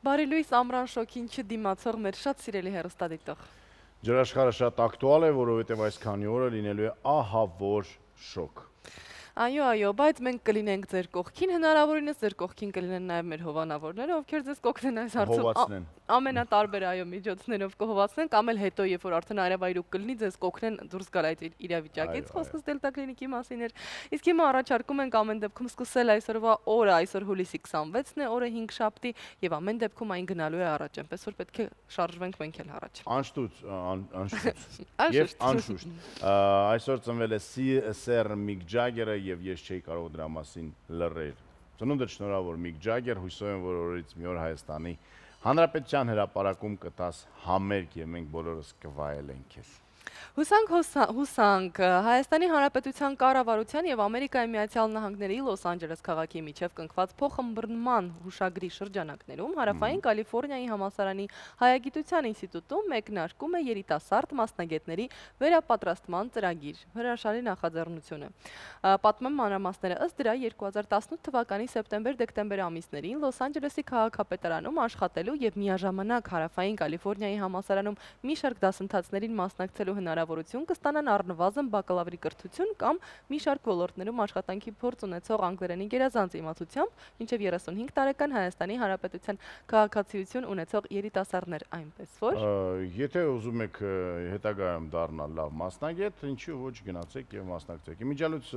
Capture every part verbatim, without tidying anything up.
Բարի լույս ամռան շոքին չդիմացող մեր շատ սիրելի հեռուստադիտող։ Ջրաշխարհը շատ ակտուալ է, որովհետև այս քանի օրը լինելու է ահավոր շոկ։ Այո, այո, բայց մենք կլինենք ձեր կողքին, հնարավորինս ձեր կողքին կլինեն նաև մեր հովանավորները, ովքեր ձեզ կօգնեն այս հարցում ամենատարբեր այո միջոցներով կհովացնեն, կամ էլ հետո, երբ որ արդեն արևայրուք կլինի, ձեզ կօգնեն դուրս գալ այդ իրավիճակից, խոսքս Դելտա կլինիկի մասին էր։ Իսկ հիմա առաջարկում ենք ամեն դեպքում սկսել այսօրվա օրը, այսօր հուլիսի քսանվեցն է, օրը հինգշաբթի, եւ ամեն դեպքում այն գնալու է առաջ, այնպես որ պետք է շարժվենք մենք էլ առաջ։ Անշտուց, անշտուց։ Եվ անշուշտ։ Այսօր ծնվել է Սեր Միք Ջագերը եւ ես չէի կարող դրա մասին լռել։ Ծնունդը շնորհավոր Միք Ջագեր, հույսով եմ, որ օրից մի օր Հայաստանի Հանրապետության հրապարակում կտաս համերգ եւ մենք բոլորս կվայելենք քեզ։ Հուսանք, հուսանք, Հայաստանի Հանրապետության կառավարության եւ Ամերիկայի Միացյալ Նահանգների Լոս Անջելես քաղաքի միջև կնքված փոխըմբռնման հուշագրի շրջանակներում Հարավային Կալիֆոռնիայի համալսարանի Հայագիտության ինստիտուտում մեկնարկում է երիտասարդ մասնագետների վերապատրաստման ծրագիր, հրաշալի նախաձեռնություն է։ Պատմեմ մանրամասները, ըստ դրա երկու հազար տասնութ թվականի սեպտեմբեր-դեկտեմբեր ամիսներին Լոս Անջելեսի քաղաքապետարանում աշխատելու եւ միաժամանակ Հարավային Կալիֆոռնիայի համալսարանում մի շարք դասընթացներին մասնակցելու հնարավորություն կստանան առնվազն բակալավրի կրթություն կամ մի շարք ոլորտներում աշխատանքի փորձ ունեցող անգլերենի գերազանց իմացությամբ, մինչև երեսունհինգ տարեկան Հայաստանի Հանրապետության քաղաքացիություն ունեցող երիտասարդներ, այնպես որ եթե ուզում եք հետագայում դառնալ լավ մասնագետ, ինչու ոչ գնացեք եւ մասնակցեք։ Իմիջիալուց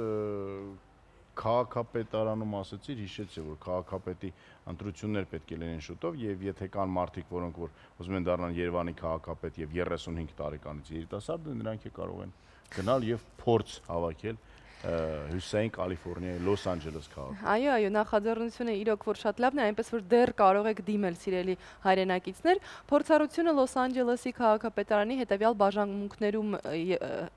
քաղաքապետարանում ասացիր, հիշեցի, որ քաղաքապետի ընտրություններ պետք է լինեն շուտով եւ եթե կան մարդիկ, որոնք որ ուզում են դառնալ Երևանի քաղաքապետ եւ երեսունհինգ տարեկանից երիտասարդ, նրանք է կարող են գնալ եւ փորձ հավաքել Հյուսիսային Կալիֆոռնիայի Լոս Անջելես քաղաքում։ Այո, այո, նախաձեռնությունը իրոք որ շատ լավն է, այնպես որ դեռ կարող եք դիմել սիրելի հայրենակիցներ։ Փորձառությունը Լոս Անջելեսի քաղաքապետարանի հետևյալ բաժանմունքներում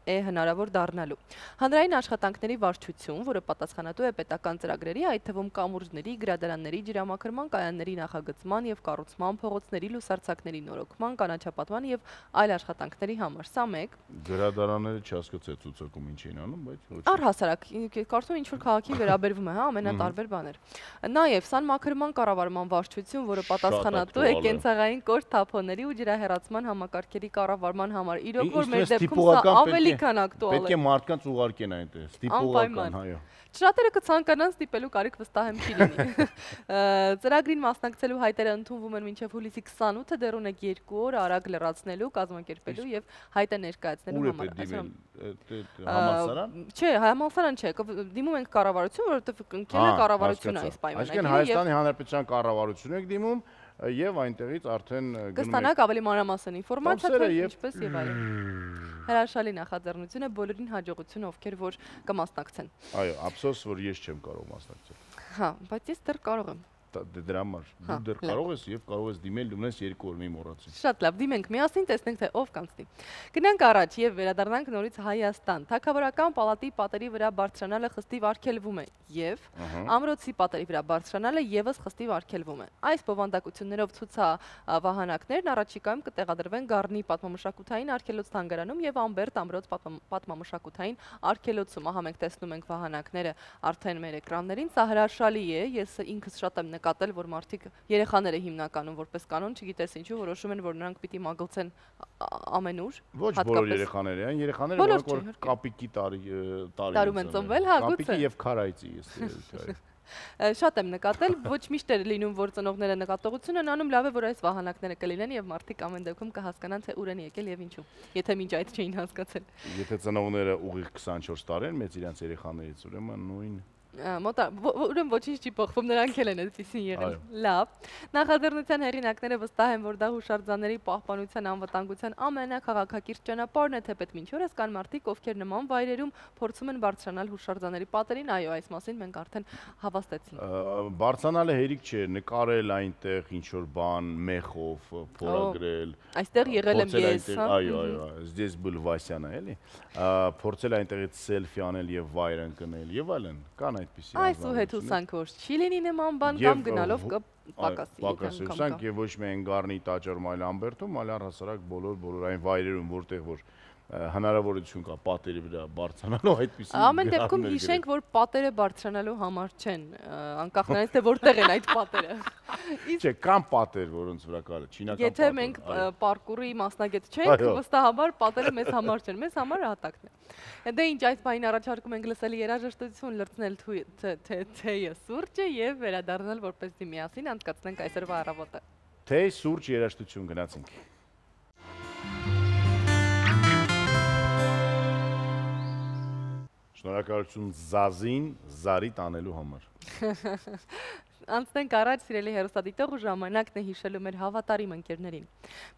է հնարավոր դառնալու։ Հանրային աշխատանքների վարչություն, որը պատասխանատու է պետական ծրագրերի, այդ թվում կամուրջների, գրադարանների, ջրամաքրման կայանների նախագծման եւ կառուցման, փողոցների լուսարձակների նորոգման, կանաչապատման եւ այլ աշխատանքների համար։ Սա մեկ։ Գրադարանները չհասկացա ցուցակում ինչ էին անում, բայց Առհասարակ, կարծում ինչ որ քաղաքին վերաբերվում է, հա, ամենատարբեր բաներ։ Նաև սանմաքրման կառավարման վարչություն, որը պատասխանատու է կենցաղային կորտ թափոնների ու ջրահեռացման համակարգերի կառավարման համար։ Իրոք որ մեր դեպքում սա ավելի քան ակտուալ է։ Պետք է մարդկանց ուղարկեն այնտեղ, ստիպողական, այո։ Շատերը կցանկանան ստիպելու կարիք վստահ եմ չի լինի։ Ծրագրին մասնակցելու հայտերը ընդունվում են մինչև հուլիսի քսանութը, դեռ ունեք երկու օր արագ լրացնելու, կազմակերպելու եւ հայտը ներկայացնելու համար։ Համալսարան։ Չէ, համալսարան չէ, դիմում ենք կառավարություն, որովհետեւ կնքել է կառավարությունը այս պայմանագրերը։ Այսինքն Հայաստանի Հանրապետության կառավարությունն եք դիմում եւ այնտեղից արդեն կստանաք ավելի մանրամասն ինֆորմացիա, թե ինչպես եւ այլն։ Հրաշալի նախաձեռնություն է, բոլորին հաջողություն, ովքեր որ կմասնակցեն։ Այո, ափսոս, որ ես չեմ կարող մասնակցել։ Հա, բայց ես դեռ կարող եմ։ Դրա համար դու դեռ կարող ես եւ կարող ես դիմել, ունես երկու օր մի մոռացի։ Շատ լավ, դիմենք միասին, տեսնենք թե ով կանցնի։ Գնանք առաջ եւ վերադառնանք նորից Հայաստան։ Թագավորական պալատի պատերի վրա բարձրանալը խստիվ արգելվում է եւ ամրոցի պատերի վրա բարձրանալը եւս խստիվ արգելվում է։ Այս բովանդակություններով ցուցավահանակներն առաջիկայում կտեղադրվեն Գառնի պատմամշակութային արգելոց թանգարանում եւ Ամբերտ ամրոց պատմամշակութային արգելոցում։ Ահա մենք տեսնում ենք վահանակները արդեն մեր էկրաններին, սա հրաշալի է, ես ինքս շատ եմ նկատել, որ մարդիկ երեխաները հիմնականում որպես կանոն, չգիտես ինչու, որոշում են, որ նրանք պիտի մագլցեն ամենուր։ Ոչ բոլոր երեխաները, այն երեխաները, որոնք որ կապիկի տարի են ծնվել, հա, գուցե։ Կապիկի եւ քարայծի, ես Շատ եմ նկատել, ոչ միշտ է լինում, որ ծնողները նկատողություն են անում, լավ է, որ այս վահանակները կլինեն եւ մարդիկ ամեն դեպքում կհասկանան, թե ուր են եկել եւ ինչու, եթե մինչ այդ չէին հասկացել։ Եթե ծնողները ուղիղ քսանչորս տարի են մեծ իրենց երեխաներից, ուրեմն նույն Ուրեմն ոչինչ չի փոխվում, նրանք էլ են այդպեսին եղել։ Լավ։ Նախաձեռնության հեղինակները վստահ են, որ դա հուշարձանների պահպանության անվտանգության ամենաքաղաքակիրթ ճանապարհն է, թեպետ մինչ օրս կան մարդիկ, ովքեր նման վայրերում փորձում են բարձրանալ հուշարձանների պատերին, այո, այս մասին մենք արդեն հավաստեցինք։ Բարձրանալը հերիք չէ, նկարել այնտեղ ինչ որ բան, մեխով, փորագրել։ Այստեղ եղել եմ ես, հա։ Այո, այո, здесь был Վասյանը, էլի։ Փորձել այնտեղից սելֆի անել եւ վայր ընկնել եւ այլն։ Կան այդպիսի Այս ու հետ հուսանք որ չի լինի նման բան կամ գնալով կպակասի։ Պակասի հուսանք եւ ոչ միայն Գառնի, Տաճարում, այլ Ամբերտում, այլ առհասարակ բոլոր բոլոր այն վայրերում, որտեղ որ հնարավորություն կա պատերի վրա բարձրանալու այդպիսի ամեն դեպքում հիշենք, որ պատերը բարձրանալու համար չեն, անկախ նրանից թե որտեղ են այդ պատերը։ Չէ, կան պատեր, որոնց վրա կարելի չինական պատեր։ Եթե մենք պարկուրի մասնագետ չենք, վստահաբար պատերը մեզ համար չեն, մեզ համար հատակն է։ Դե ինչ, այս բանին առաջարկում ենք լսել երաժշտություն, լրացնել թեյը, սուրճը եւ վերադառնալ որպեսզի միասին անցկացնենք այսօրվա առավոտը։ Թեյ, սուրճ, երաժշտություն, գնացինք։ Շնորհակալություն Զազին զարի տանելու համար։ Անցնենք առաջ, սիրելի հեռուստադիտող, ու ժամանակն է հիշելու մեր հավատարիմ ընկերներին։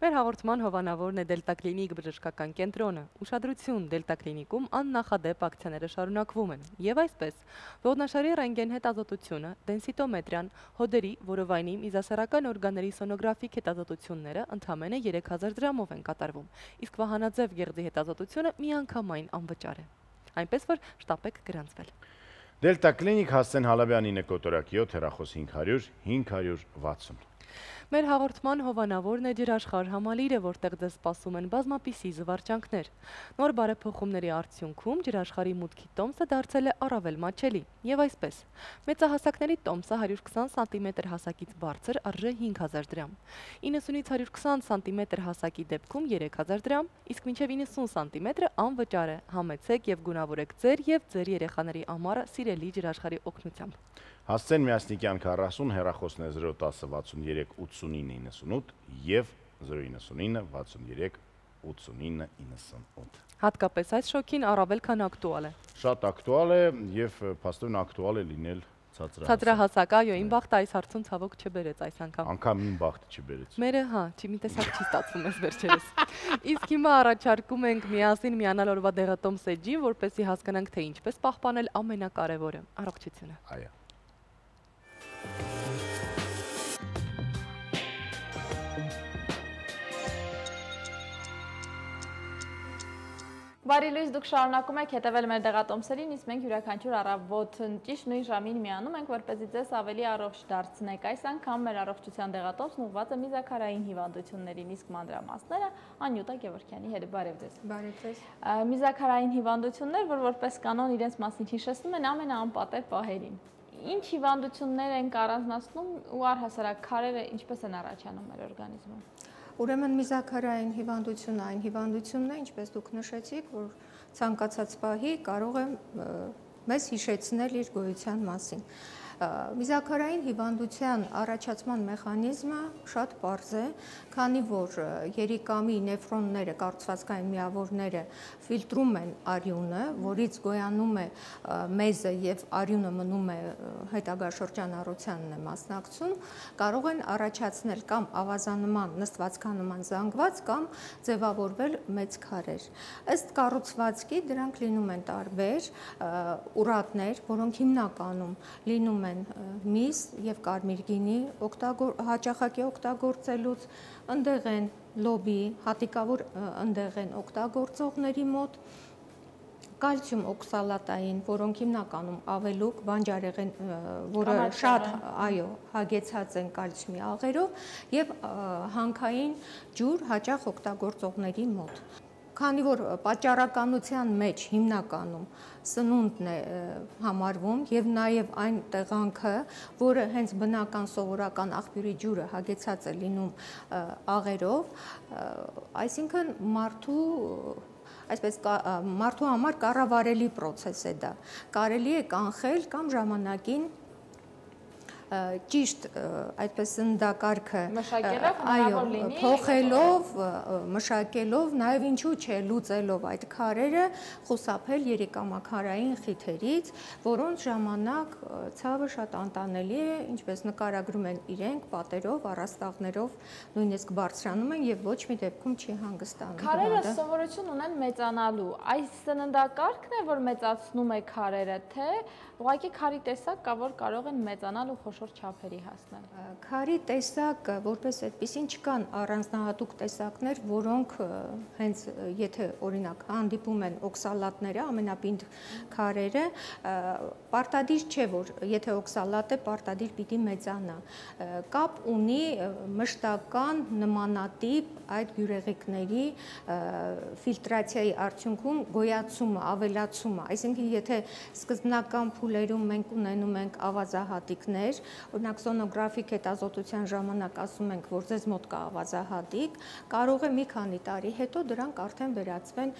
Մեր հաղորդման հովանավորն է Դելտա Կլինիկ բժշկական կենտրոնը։ Ուշադրություն, Դելտա Կլինիկում աննախադեպ ակցիաները շարունակվում են։ Եվ այսպես, ողնաշարի ռենտգեն հետազոտությունը, դենսիտոմետրիան, հոդերի, որովայնի, միզասեռական օրգանների սոնոգրաֆիկ հետազոտությունները ընդամենը երեք հազար դրամով են կատարվում, իսկ վահանաձև գեղձի հետազոտությունը միանգամայն անվճար է։ Այնպես որ շտապեք գրանցվել։ Դելտա Կլինիկ, Հասցեն Հալաբյանի նկոտորակ յոթ, հեռախոս հինգ հարյուր հինգ հարյուր վաթսուն։ Մեր հաղորդման հովանավորն է ջրաշխարհ համալիրը, որտեղ ձեզ սպասում են բազմապիսի զվարճանքներ։ Նոր բարեփոխումների արդյունքում ջրաշխարհի մուտքի տոմսը դարձել է առավել մատչելի։ Եվ այսպես, մեծահասակների տոմսը հարյուր քսան սանտիմետր հասակից բարձր արժե հինգ հազար դրամ, իննսունից հարյուր քսան սանտիմետր հասակի դեպքում երեք հազար դրամ, իսկ մինչև իննսուն սանտիմետրը անվճար է։ Համեցեք եւ գունավորեք ձեր եւ ձեր երեխաների ամառը սիրելի ջրաշխարհի օգնությամբ։ Հասցեն Միասնիկյան քառասուն, հեռախոսն է զրո տասը վաթսուններեք ութսունինը իննսունութ եւ զրո իննսունինը վաթսուններեք ութսունինը իննսունութ։ Հատկապես այս շոկին առավել քան ակտուալ է։ Շատ ակտուալ է եւ փաստորեն ակտուալ է լինել ցածրահասակ։ Ցածրահասակ, այո, իմ բախտը այս հարցում ցավոք չբերեց այս անգամ։ Անգամ իմ բախտը չբերեց։ Մերը, հա, չի մի տեսակ չի ստացվում էս վերջերս։ Իսկ հիմա առաջարկում ենք միասին միանալ օրվա դեղատոմս էջին, որպեսզի հասկանանք, թե ինչպես պահպանել ամենակարևորը՝ առողջությունը։ Այո։ Բարի լույս, դուք շարունակում եք հետևել մեր դեղատոմսերին, իսկ մենք յուրաքանչյուր առավոտ ճիշտ նույն ժամին միանում ենք, որպեսզի ձեզ ավելի առողջ դարձնենք։ Այս անգամ մեր առողջության դեղատոմսն ուղղված է միզաքարային հիվանդություններին, իսկ մանրամասները Անյուտա Գևորգյանի հետ։ Բարև ձեզ։ Բարև ձեզ։ Միզաքարային հիվանդություններ, որ որպես կանոն իրենց մասին հիշեցնում են ամենաանպատեր պահերին։ Ինչ հիվանդություններ են առանձնացնում ու առհասարակ քարերը ինչպես են առաջանում մեր օրգանիզմում։ Ուրեմն միզաքարային հիվանդությունը այն հիվանդությունն է, ինչպես դուք նշեցիք, որ ցանկացած պահի կարող է մեզ հիշեցնել իր գոյության մասին։ Միզաքարային հիվանդության առաջացման մեխանիզմը շատ պարզ է, քանի որ երիկամի նեֆրոնները, կառուցվածքային միավորները ֆիլտրում են արյունը, որից գոյանում է մեզը եւ արյունը մնում է հետագա շրջանառությանն է մասնակցում, կարող են առաջացնել կամ ավազանման, նստվածքանման զանգված կամ ձևավորվել մեծ քարեր։ Ըստ կառուցվածքի դրանք լինում են տարբեր, ուրատներ, որոնք հիմնականում լինում են միս եւ կարմիր գինի հաճախակի օգտագործելուց, ընդեղ են լոբի, հատիկավոր ընդեղ են օգտագործողների մոտ, կալցիում օքսալատային, որոնք հիմնականում ավելուկ բանջարեղեն, որը շատ, այո, հագեցած են կալցիումի աղերով եւ հանքային ջուր հաճախ օգտագործողների մոտ։ Քանի որ պատճառականության մեջ հիմնականում սնունդն է համարվում եւ նաեւ այն տեղանքը, որը հենց բնական սովորական աղբյուրի ջուրը հագեցած է լինում աղերով, այսինքն մարդու այսպես մարդու համար կառավարելի process է դա։ Կարելի է կանխել կամ ժամանակին ճիշտ այդպես սննդակարգը այո փոխելով, մշակելով, նաև ինչու՞ չէ լուծելով այդ քարերը, խուսափել երիկամաքարային խիթերից, որոնց ժամանակ ցավը շատ անտանելի է, ինչպես նկարագրում են իրենք, պատերով, առաստաղներով նույնիսկ բարձրանում են եւ ոչ մի դեպքում չի հանգստանում։ Քարերը սովորություն ունեն մեծանալու։ Այս սննդակարգն է, որ մեծացնում է քարերը, թե ուղղակի քարի տեսակ կա, որ կարող են մեծանալ ու խոշոր չափերի հասնել։ Քարի տեսակ, որպես այդպեսին չկան առանձնահատուկ տեսակներ, որոնք հենց եթե օրինակ հանդիպում են օքսալատները, ամենապինդ քարերը, պարտադիր չէ, որ եթե օքսալատ է, պարտադիր պիտի մեծանա։ Կապ ունի մշտական նմանատիպ այդ բյուրեղիկների ֆիլտրացիայի արդյունքում գոյացումը, ավելացումը, այսինքն եթե սկզբնական փուլերում մենք ունենում ենք ավազահատիկներ, օրինակ սոնոգրաֆիկ հետազոտության ժամանակ ասում ենք, որ ձեզ մոտ կա ավազահատիկ, կարող է մի քանի տարի հետո դրանք արդեն վերածվեն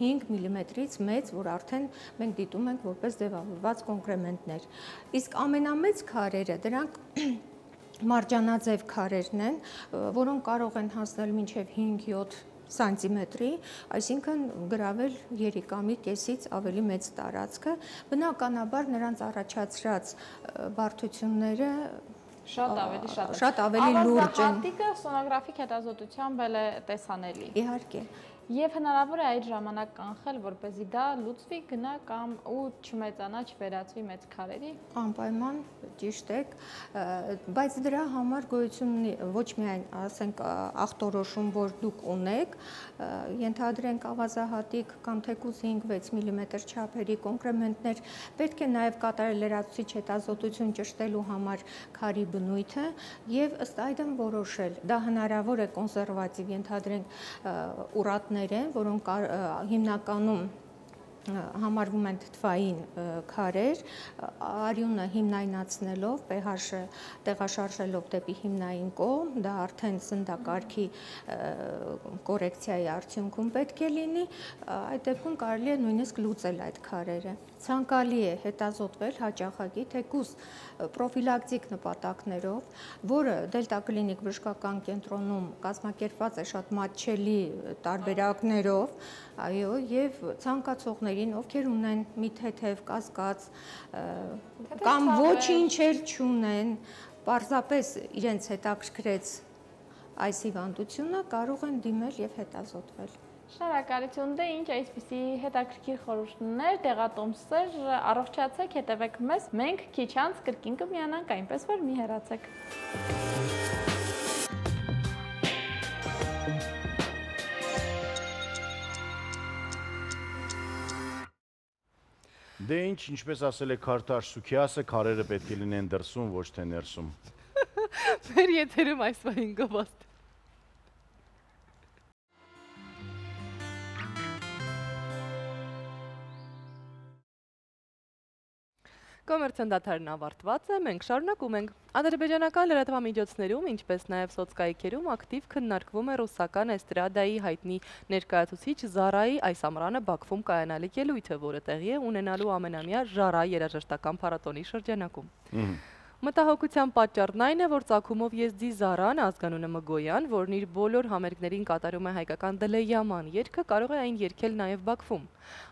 հինգ միլիմետրից մեծ, որ արդեն մենք դիտում ենք որպես ձևավորված կոնկրեմենտներ։ Իսկ ամենամեծ քարերը, դրանք մարջանաձև քարերն են, որոնք կարող են հասնել մինչև հինգ-յոթ սանտիմետրի, այսինքն գրավել երիկամի կեսից ավելի մեծ տարածքը, բնականաբար նրանց առաջացրած բարդությունները շատ ավելի շատ շատ ավելի լուրջ են։ Ավազահատիկը սոնոգրաֆիկ հետազոտությամբ էլ է տեսանելի։ Իհարկե։ Եվ հնարավոր է այդ ժամանակ կանխել, որպեսզի դա լուծվի, գնա կամ ու չմեծանա, չվերածվի մեծ քարերի։ Անպայման ճիշտ եք, բայց դրա համար գոյություն ունի ոչ միայն, ասենք, ախտորոշում, որ դուք ունեք, ենթադրենք ավազահատիկ կամ թեկուզ հինգ-վեց միլիմետր չափերի կոնկրեմենտներ, պետք է նաև կատարել լրացուցիչ հետազոտություն ճշտելու համար քարի բնույթը եւ ըստ այդմ որոշել։ Դա հնարավոր է կոնսերվատիվ, ենթադրենք, ուրատներ են, որոնք հիմնականում համարվում են թթվային քարեր, արյունը հիմնայնացնելով, pH-ը տեղաշարժելով դեպի հիմնային կողմ, դա արդեն սննդակարգի կորեկցիայի արդյունքում պետք է լինի, այդ դեպքում կարելի է նույնիսկ լուծել այդ քարերը։ Ցանկալի է հետազոտվել հաճախակի թեկուզ պրոֆիլակտիկ նպատակներով, որը Դելտա կլինիկ բժշկական կենտրոնում կազմակերպված է շատ մատչելի տարբերակներով, այո, եւ ցանկացողներին, ովքեր ունեն մի թեթև կասկած կամ ոչինչ էլ չունեն, պարզապես իրենց հետաքրքրեց այս հիվանդությունը, կարող են դիմել եւ հետազոտվել։ Շնորհակալություն, դե ինչ այսպիսի հետաքրքիր խորհուրդներ, տեղատոմսեր, առողջացեք, հետևեք մեզ, մենք քիչ անց կրկին կմիանանք, այնպես որ մի հեռացեք։ Դե ինչ, ինչպես ասել է Քարթաշ Սուքիասը, քարերը պետք է լինեն դրսում, ոչ թե ներսում։ Մեր եթերում այս բանին գովաստ։ Կոմերցիոն դադարն ավարտված է, մենք շարունակում ենք։ Ադրբեջանական լրատվամիջոցներում, ինչպես նաև սոցկայքերում ակտիվ քննարկվում է ռուսական էստրադայի հայտնի ներկայացուցիչ Զարայի այս ամռանը Բաքվում կայանալիք ելույթը, որը տեղի է ունենալու ամենամյա Ժարա երաժշտական փառատոնի շրջանակում։ Մտահոգության պատճառն այն է, որ ծագումով եզդի Զարան, ազգանունը Մգոյան, որն իր բոլոր համերգներին կատարում է հայկական Դլեյաման երգը, կարող է այն երգել նաև Բաքվում։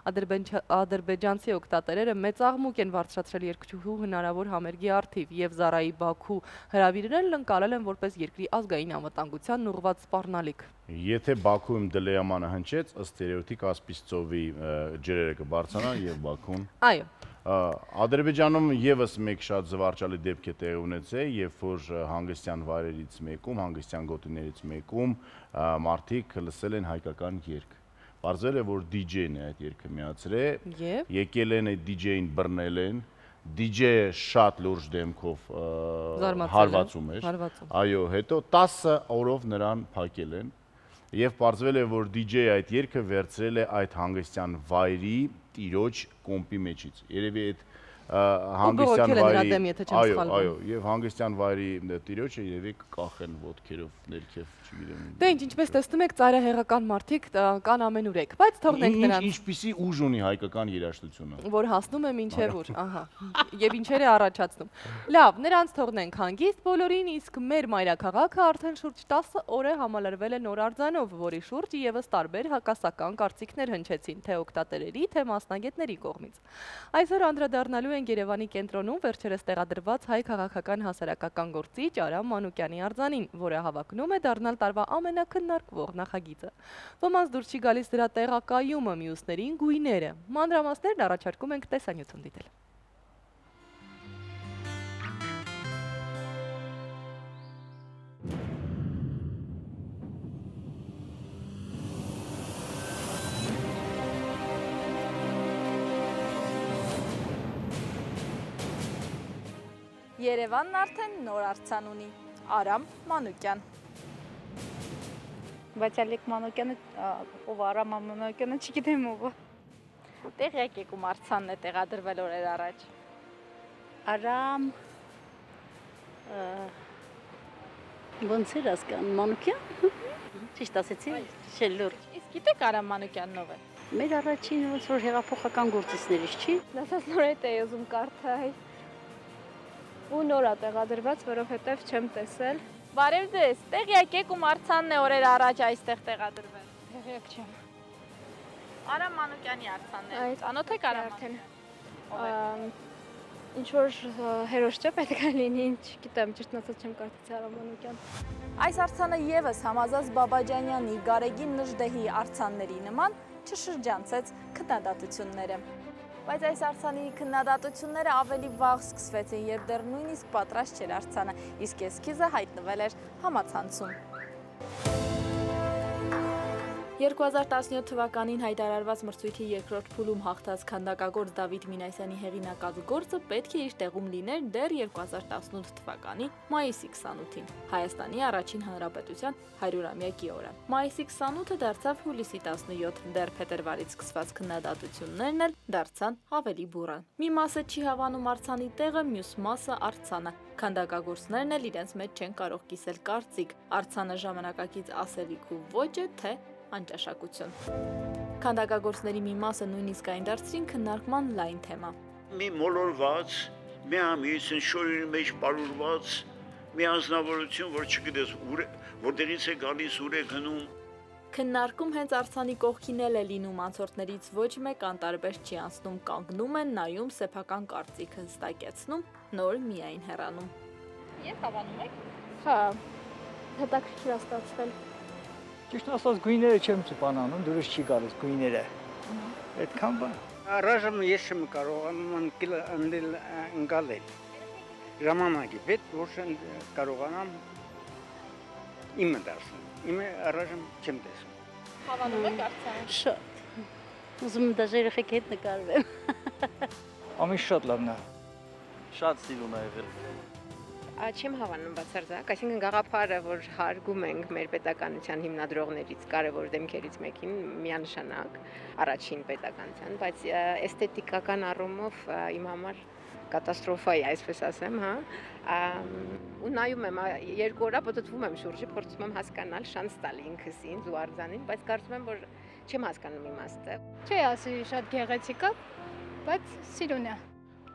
Ադրբեջանցի օգտատերերը մեծ աղմուկ են բարձրացրել երգչուհու հնարավոր համերգի առթիվ եւ Զարայի Բաքու հրավիրներն ընկալել են որպես երկրի ազգային անվտանգության ուղղված սպառնալիք։ Եթե Բաքուում Դլեյամանը հնչեց, ըստ երևույթի Կասպից ծովի ջրերը կբարձրանան եւ Բաքուն։ Այո։ Ադրբեջանում եւս մեկ շատ զվարճալի դեպք է տեղի ունեցել, երբ որ հանգստյան վայրերից մեկում, հանգստյան գոտիներից մեկում մարդիկ լսել են հայկական երգ։ Պարզվել է, որ դիջեյն է այդ երգը միացրել, եկել են այդ դիջեյին բռնել են, դիջեյը շատ լուրջ դեմքով հարվածում էր, այո, հետո տասը օրով նրան փակել են եւ պարզվել է, որ դիջեյը այդ երգը վերցրել է այդ հանգստյան վայրի տիրոջ կոմպի մեջից։ Երևի այդ հանգստյան վայրի, այո, այո, եւ հանգստյան վայրի տիրոջը երևի կկախեն ոտքերով ներքև, չգիտեմ։ Դե ինչ, ինչպես տեսնում եք, ծայրահեղական մարդիկ կան ամենուրեք, բայց թողնենք նրանց։ Ինչպիսի ուժ ունի հայկական երաժշտությունը, որ հասնում է մինչև ուր, ահա, եւ ինչեր է առաջացնում։ Լավ, նրանց թողնենք հանգիստ բոլորին, իսկ մեր մայրաքաղաքը արդեն շուրջ տասը օր է համալրվել է նոր արձանով, որի շուրջ եւս տարբեր հակասական կարծիքներ հնչեցին, թե օգտատերերի, թե մասնագետների կողմից։ Այսօր անդրադառնալու ենք Երևանի կենտրոնում վերջերս տեղադրված հայ քաղաքական հասարակական գործիչ Արամ Մանուկյանի արձանին, որը հավակնում է դառնալ տարվա ամենակննարկվող նախագիծը։ Ոմանց դուր չի գալիս դրա տեղակայումը, մյուսներին գույները։ Մանրամասներն առաջարկում ենք տեսանյութում դիտել։ Երևանն արդեն նոր արձան ունի։ Արամ Մանուկյան։ Բայց Ալեք Մանուկյանը, ով Արամ Մանուկյանը չգիտեմ ով։ Տեղյակ եք ում արձանն է տեղադրվել օրեր առաջ։ Արամ ոնց էր ասկան Մանուկյան։ Ճիշտ ասեցի, շելուր։ Իսկ գիտեք Արամ Մանուկյանն ով է։ Մեր առաջին ոնց որ հեղափոխական գործիչներից չի։ Դասած նորետ է ուզում կարդալ։ Ու նորա տեղադրված, որովհետև չեմ տեսել։ Բարև ձեզ, տեղյակ եք ում արձանն է օրեր առաջ այստեղ տեղադրվել։ Տեղյակ չեմ։ Արամ Մանուկյանի արձանն է։ Այդ Ծանոթ եք Արամ արդեն։ Ինչ որ հերոս չէ պետք է լինի, չգիտեմ, ճիշտն ասած չեմ կարդացի Արամ Մանուկյան։ Այս արձանը եւս համազած Բաբաջանյանի, Գարեգին Նժդեհի արձանների նման չշրջանցեց քննադատությունները։ Բայց այս արձանի քննադատությունները ավելի վաղ սկսվեցին, երբ դեռ նույնիսկ պատրաստ չէր արձանը, իսկ էսքիզը հայտնվել էր համացանցում։ երկու հազար տասնյոթ թվականին հայտարարված մրցույթի երկրորդ փուլում հաղթած քանդակագործ Դավիթ Մինասյանի հեղինակած գործը պետք է իր տեղում լիներ դեռ երկու հազար տասնութ թվականի մայիսի քսանութին, Հայաստանի առաջին հանրապետության հարյուրամյակի օրը։ Մայիսի քսանութը դարձավ հուլիսի տասնյոթ, դեռ փետրվարից սկսված քննադատություններն էլ դարձան ավելի բուռն։ Մի մասը չի հավանում արձանի տեղը, մյուս մասը արձանը։ Քանդակագործներն էլ իրենց մեջ չեն կարող կիսել կարծիք, արձանը ժամանակակից ասելիք ու ոչ է, թե անճաշակություն։ Քանդակագործների մի մասը նույնիսկ այն դարձրին քննարկման լայն թեմա։ Մի մոլորված, մի ամիսն շորի մեջ բարուրված, մի անձնավորություն, որ չգիտես ուր է, որտեղից է գալիս, ուր է գնում։ Քննարկում հենց արձանի կողքին էլ է լինում, անցորդներից ոչ մեկ անտարբեր չի անցնում, կանգնում են, նայում, սեփական կարծիքը հստակեցնում, նոր միայն հեռանում։ Ես հավանում եք։ Հա, հետաքրքիր է ստացվել։ Ճիշտ ասած գույները չեմ ծպանանում, դուրս չի գալիս գույները։ Այդքան բան։ Առայժմ ես չեմ կարողանում անդել ընկալել։ Ժամանակի պետք որ կարողանամ իմը դարձնել։ Իմը առայժմ չեմ տեսնում։ Հավանում եք արձանը։ Շատ։ Ուզում եմ դաժե երեխեք հետ նկարվեմ։ Ամեն շատ լավն է։ Շատ սիրուն է եղել։ Չեմ հավանում բացարձակ, այսինքն գաղափարը, որ հարգում ենք մեր պետականության հիմնադրողներից, կարևոր դեմքերից մեկին, միանշանակ առաջին պետականության, բայց էսթետիկական առումով իմ համար կատաստրոֆա է, այսպես ասեմ, հա, ու նայում եմ, երկու օր պտտվում եմ շուրջը, փորձում եմ հասկանալ, շանս տալ ինքս ինձ ու արձանին, բայց կարծում եմ, որ չեմ հասկանում իմաստը։ Չի ասի շատ գեղեցիկ է, բայց սիրուն է։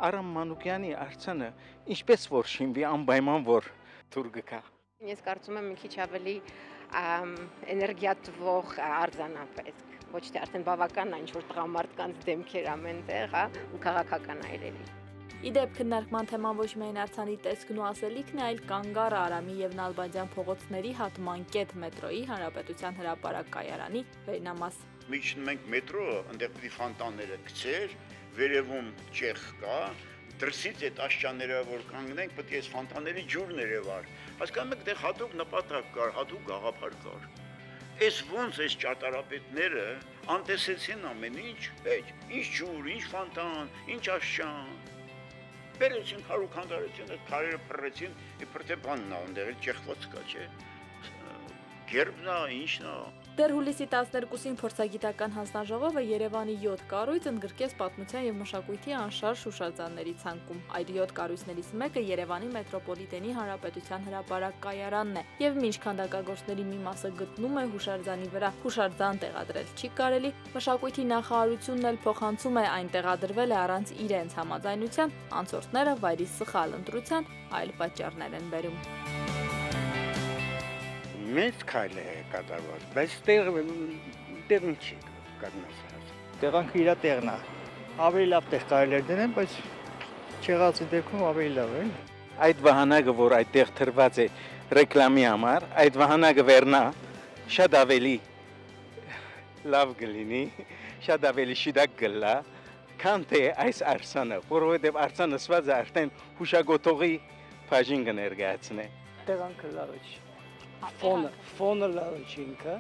Արամ Մանուկյանի արձանը ինչպես որ շինվի անպայման որ դուր գա։ Ես կարծում եմ մի քիչ ավելի էներգիա տվող արձանա պետք, ոչ թե արդեն բավական այն ինչ-որ տղամարդկանց դեմքեր ամենտեղ, հա, ու քաղաքական այրերի։ Իդեպ քննարկման թեման ոչ միայն արձանի տեսքն ու ասելիքն է, այլ Կանգառ, Արամի եւ Նալբանդյան փողոցների հատման կետ մետրոյի Հանրապետության հրապարակ կայարանի վերնամաս։ Միջին մենք մետրո, այնտեղ պիտի ֆոնտանները գցեր, վերևում ճեղ կա, դրսից այդ աշճանները որ կանգնենք, պետք է այս ֆոնտանների ջուրն երևար։ Հասկանում եք, դե հատուկ նպատակ կար, հատուկ գաղափար կար։ Այս ոնց այս ճարտարապետները անտեսեցին ամեն ինչ, այդ ինչ ջուր, ինչ ֆոնտան, ինչ աշճան։ Բերեցին քարու քանդարեցին, այդ քարերը փռեցին, իբր թե բանն է, այնտեղ ճեղքված կա, չէ։ Գերբն է, ինչն է։ Դեռ հուլիսի տասներկուսին փորձագիտական հանձնաժողովը Երևանի յոթ կառույց ընդգրկեց պատմության եւ մշակույթի անշարժ հուշարձանների ցանկում։ Այդ յոթ կառույցներից մեկը Երևանի մետրոպոլիտենի հանրապետության հրապարակ կայարանն է, եւ մինչ քանդակագործների մի մասը գտնում է հուշարձանի վրա, հուշարձան տեղադրել չի կարելի, մշակույթի նախարարությունն էլ փոխանցում է այն տեղադրվել է առանց իրենց համաձայնության, անցորդները վայրի սխալ ընտրության այլ պատճառներ են բերում։ Մեծ քայլ է կատարված, բայց տեղ տեղն չի կանգնած։ Տեղանքը իր տեղն է։ Ավելի լավ տեղ կարելի է դնել, բայց չեղածի դեպքում ավելի լավ է։ Այդ վահանակը, որ այդտեղ թրված է ռեկլամի համար, այդ վահանակը վերնա շատ ավելի լավ կլինի, շատ ավելի շիդակ կլա, քան թե այս արձանը, որովհետև արձանը ասված է արդեն հուշագոտողի բաժին կներկայացնի։ Տեղանքը լավ է։ Ֆոնը, ֆոնը լավ է ինքը։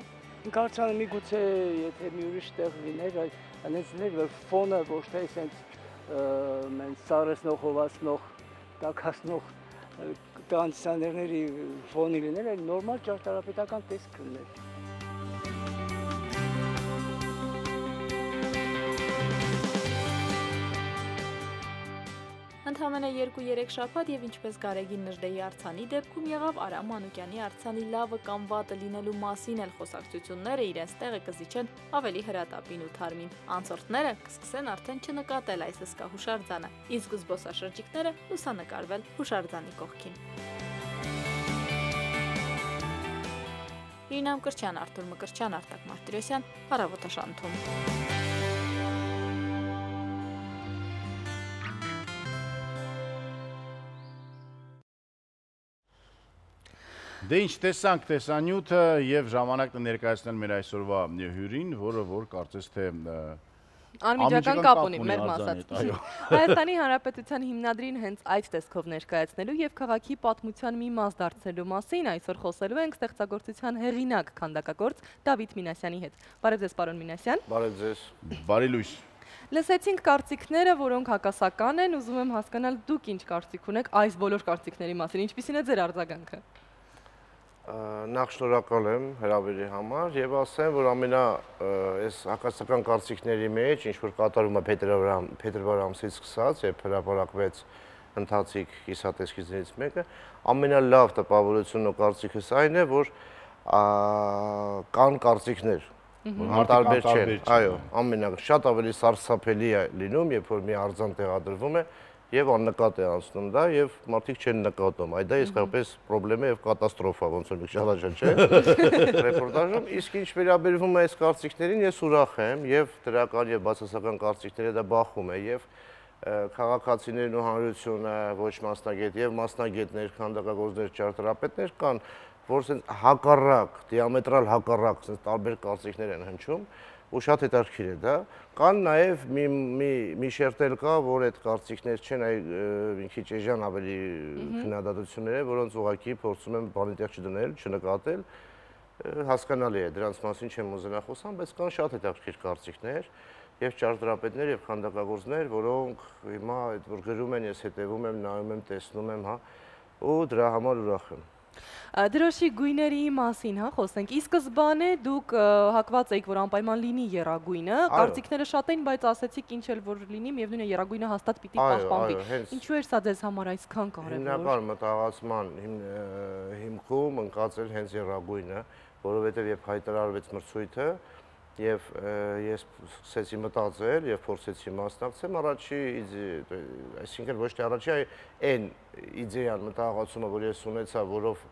Ինքը արձանը միգուցե եթե մի ուրիշ տեղ լիներ, այնպես լիներ, որ ֆոնը ոչ թե այսպես մեն սարսնող, հովացնող, տաքացնող կոնդիցիոներների ֆոնի լիներ, այլ նորմալ ճարտարապետական տեսք լիներ։ Ընդամենը երկու-երեք շաբաթ եւ ինչպես Գարեգին Նժդեի արձանի դեպքում եղավ Արամ Մանուկյանի արձանի լավը կամ վատը լինելու մասին էլ խոսակցությունները իրենց տեղը կզիջեն ավելի հրատապին ու թարմին։ Անցորդները կսկսեն արդեն չնկատել այս հսկա հուշարձանը, իսկ զբոսաշրջիկները լուսանկարվել հուշարձանի կողքին։ Իրինամ Կրչյան, Արթուր Մկրտչյան, Արտակ Մարտիրոսյան, Առավոտաշանթում։ Դե ինչ տեսանք տեսանյութը եւ ժամանակը ներկայացնել մեր այսօրվա հյուրին, որը որ կարծես թե անմիջական կապ ունի մեր մասած։ Հայաստանի Հանրապետության հիմնադրին հենց այդ տեսքով ներկայացնելու եւ քաղաքի պատմության մի մաս դարձնելու մասին այսօր խոսելու ենք ստեղծագործության հեղինակ քանդակագործ Դավիթ Մինասյանի հետ։ Բարև ձեզ, պարոն Մինասյան։ Բարև ձեզ։ Բարի լույս։ Լսեցինք կարծիքները, որոնք հակասական են, ուզում եմ հասկանալ դուք ինչ կարծիք ունեք այս բոլոր կարծիքների մասին, ինչպիսին է ձեր արձագանքը։ Նախ շնորհակալ եմ հրավերի համար եւ ասեմ, որ ամենա այս հակասական կարծիքների մեջ, ինչ որ կատարում է փետրվար ամսից սկսած եւ հրապարակվեց ընթացիկ կիսատեսքիներից մեկը, ամենալավ տպավորությունն ու կարծիքս այն է, որ կան կարծիքներ, որ տարբեր չեն, այո, ամենա շատ ավելի սարսափելի է լինում, երբ որ մի արձան տեղադրվում է եւ աննկատ է անցնում դա եւ մարդիկ չեն նկատում։ Այդ դա իսկապես խնդրեմ է եւ կատաստրոֆա, ոնց որ շալաժան չէ։ Ռեպորտաժում, իսկ ինչ վերաբերվում է այս կարծիքներին, ես ուրախ եմ եւ դրական եւ բացասական կարծիքները դա բախում է եւ քաղաքացիներն ու հանրությունը ոչ մասնագետ եւ մասնագետներ, քանդակագործներ, ճարտարապետներ կան, որ ասենց հակառակ, դիամետրալ հակառակ, ասենց տարբեր կարծիքներ են հնչում։ Ու շատ հետաքրքիր է դա, կան նաև մի մի մի շերտել կա, որ այդ կարծիքներ չեն, այ մի քիչ էժան ավելի քննադատություններ, որոնց ուղղակի փորձում եմ բանի տեղ չդնել, չնկատել, հասկանալի է, դրանց մասին չեմ ուզենա խոսամ, բայց կան շատ հետաքրքիր կարծիքներ եւ ճարտարապետներ եւ քանդակագործներ, որոնք հիմա այդ որ գրում են, ես հետեւում եմ, նայում եմ, տեսնում եմ, հա, ու դրա համար ուրախ եմ։ Դրոշի գույների մասին, հա, խոսենք։ Ի սկզբանե դուք հակված եք, որ անպայման լինի եռագույնը, կարծիքները շատ էին, բայց ասեցիք ինչ էլ որ լինի, միևնույն է եռագույնը հաստատ պիտի պահպանվի։ Ինչու էր սա ձեզ համար այսքան կարևոր։ Հիմնական մտահղացման հիմքում ընկած էր հենց եռագույնը, որովհետև երբ հայտարարվեց մրցույթը, եւ ես սկսեցի մտածել եւ փորձեցի մասնակցել առաջի, այսինքն ոչ թե առաջի, այլ այն իդեան մտահղացումը, որ ես ունեցա, որով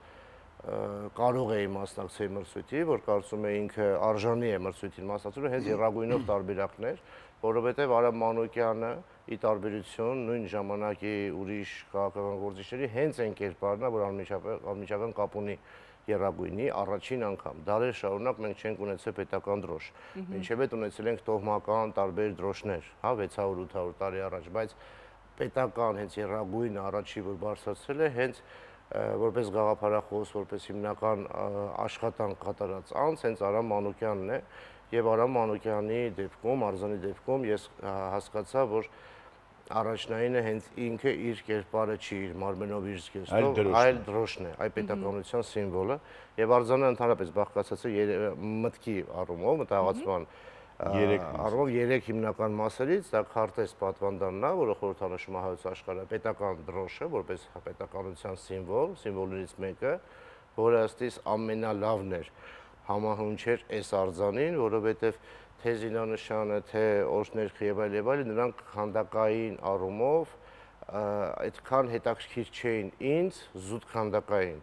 կարող էի մասնակցել մրցույթի, որ կարծում եմ ինքը արժանի է մրցույթին մասնակցելու, հենց եռագույնով տարբերակներ, որովհետև Արամ Մանուկյանը ի տարբերություն նույն ժամանակի ուրիշ քաղաքական գործիչների հենց այն կերպարն է, որ անմիջական կապ ունի եռագույնի առաջին անգամ։ Դարեր շարունակ մենք չենք ունեցել պետական դրոշ։ Մինչև այդ ունեցել ենք տոհմական տարբեր դրոշներ, հա, վեց հարյուր ութ հարյուր տարի առաջ, բայց պետական հենց եռագույնը առաջի որ բարձրացրել է, հենց որպես գաղափարախոս, որպես հիմնական աշխատանք կատարած անձ, հենց Արամ Մանուկյանն է, եւ Արամ Մանուկյանի դեպքում, արձանի դեպքում ես հասկացա, որ առաջնայինը հենց ինքը իր կերպարը չի, իր մարմենով իր զգեստով, այլ դրոշն է, այ պետականության սիմվոլը, եւ արձանը ընդհանրապես բաղկացած է մտքի առումով, մտահղացման առումով երեք հիմնական մասերից, դա քարտեզ պատվանդանն է, որը խորհրդանշում է հայոց աշխարհի պետական դրոշը, որպես պետականության սիմվոլ, սիմվոլներից մեկը, որը ըստ իս ամենալավն էր, համահունչ էր այս արձանին, որովհետեւ թե զինանշանը, թե օրհներքը եւ այլ եւ այլ, նրանք քանդակային առումով այդքան հետաքրքիր չէին ինձ, զուտ քանդակային,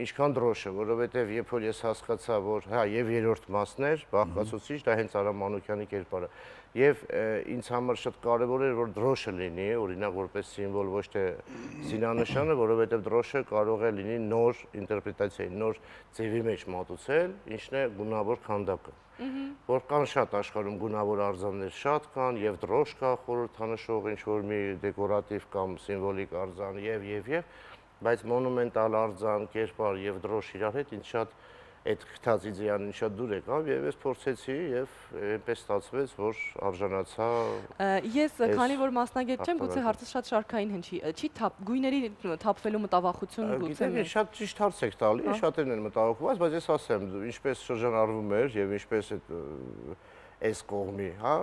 ինչքան դրոշը, որովհետեւ երբ որ ես հասկացա, որ հա եւ երրորդ մասն էր, բաղկացուցիչ, դա հենց Արամ Մանուկյանի կերպարը, եւ ինձ համար շատ կարեւոր էր, որ դրոշը լինի, օրինակ որպես սիմվոլ, ոչ թե զինանշանը, որովհետեւ դրոշը կարող է լինի նոր ինտերպրետացիայի, նոր ձևի մեջ մատուցել, ինչն է գունավոր քանդակը։ Որ կան շատ աշխարհում գունավոր արձաններ շատ կան, եւ դրոշ կա խորհրդանշող, ինչ որ մի դեկորատիվ կամ սիմվոլիկ արձան եւ եւ եւ, բայց մոնումենտալ արձան, կերպար եւ դրոշ իրար հետ ինձ շատ այդ քթած իդեան շատ դուր եկավ եւ ես փորձեցի եւ այնպես ստացվեց, որ արժանացա։ Ես քանի որ մասնագետ չեմ, գուցե հարցը շատ շարքային հնչի, չի գույների թափվելու մտավախություն գուցե։ Գիտեք, շատ ճիշտ հարց եք տալի, շատերն են մտահոգված, բայց ես ասեմ, ինչպես շրջանառվում էր եւ ինչպես այդ այս կողմի, հա,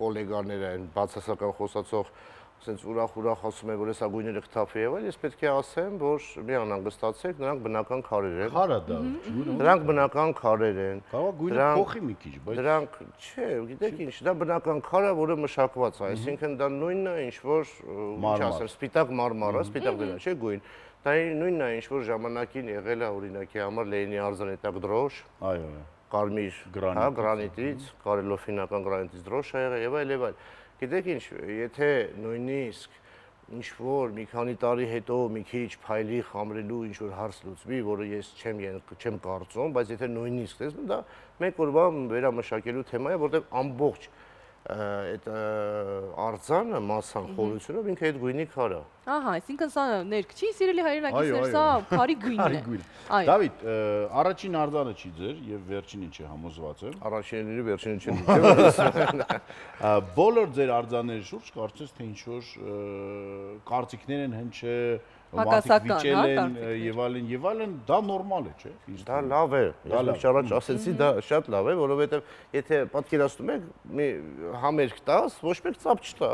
գոլեգաները են բացասական խոսացող Սենց ուրախ-ուրախ ասում են, որ հեսա գույները կթափի եղել, ես պետք է ասեմ, որ մի անհանգստացեք, նրանք բնական քարեր են։ Քարը դա, Դրանք բնական քարեր են։ Կարող գույնը փոխի մի քիչ, բայց Դրանք, չէ, գիտեք ինչ, դա բնական քարը, որը մշակված է, այսինքն դա նույնն է, ինչ որ, ինչ ասեմ, սպիտակ մարմարը, սպիտակ դրա, չէ, գույն։ Դա նույնն է, ինչ որ ժամանակին եղել է օրինակի համար Լենինի արձանի տակ դրոշ։ Այո, կարմիր, հա, գրանիտից, կարելոֆինական գրանիտից դրոշ է եղել եւ այլ եւ այլ։ Գիտեք ինչ, եթե նույնիսկ ինչ-որ մի քանի տարի հետո մի քիչ փայլի խամրելու ինչ-որ հարց լուծվի, որը ես չեմ չեմ կարծում, բայց եթե նույնիսկ տեսնում, դա մեկ օրվա վերամշակելու թեմա է, որտեղ ամբողջ այդ արձանը մասսան խորությունով ինքը այդ գույնի քար է։ Ահա, այսինքն սա ներք չի, սիրելի հայրենակիցներ, սա քարի գույնն է։ Դավիթ, առաջին արձանը չի ձեր եւ վերջինին չի համոզված եմ։ Առաջինը վերջինը չի։ Բոլոր ձեր արձանների շուրջ կարծես թե ինչ որ կարծիքներ են հնչե Հակասական, եւ այլն եւ այլն, դա նորմալ է, չէ՞։ Դա լավ է։ Ես առաջ ասեցի, դա շատ լավ է, որովհետեւ եթե պատկերացնում եք, մի համերգ տաս, ոչ մեկ ծափ չտա,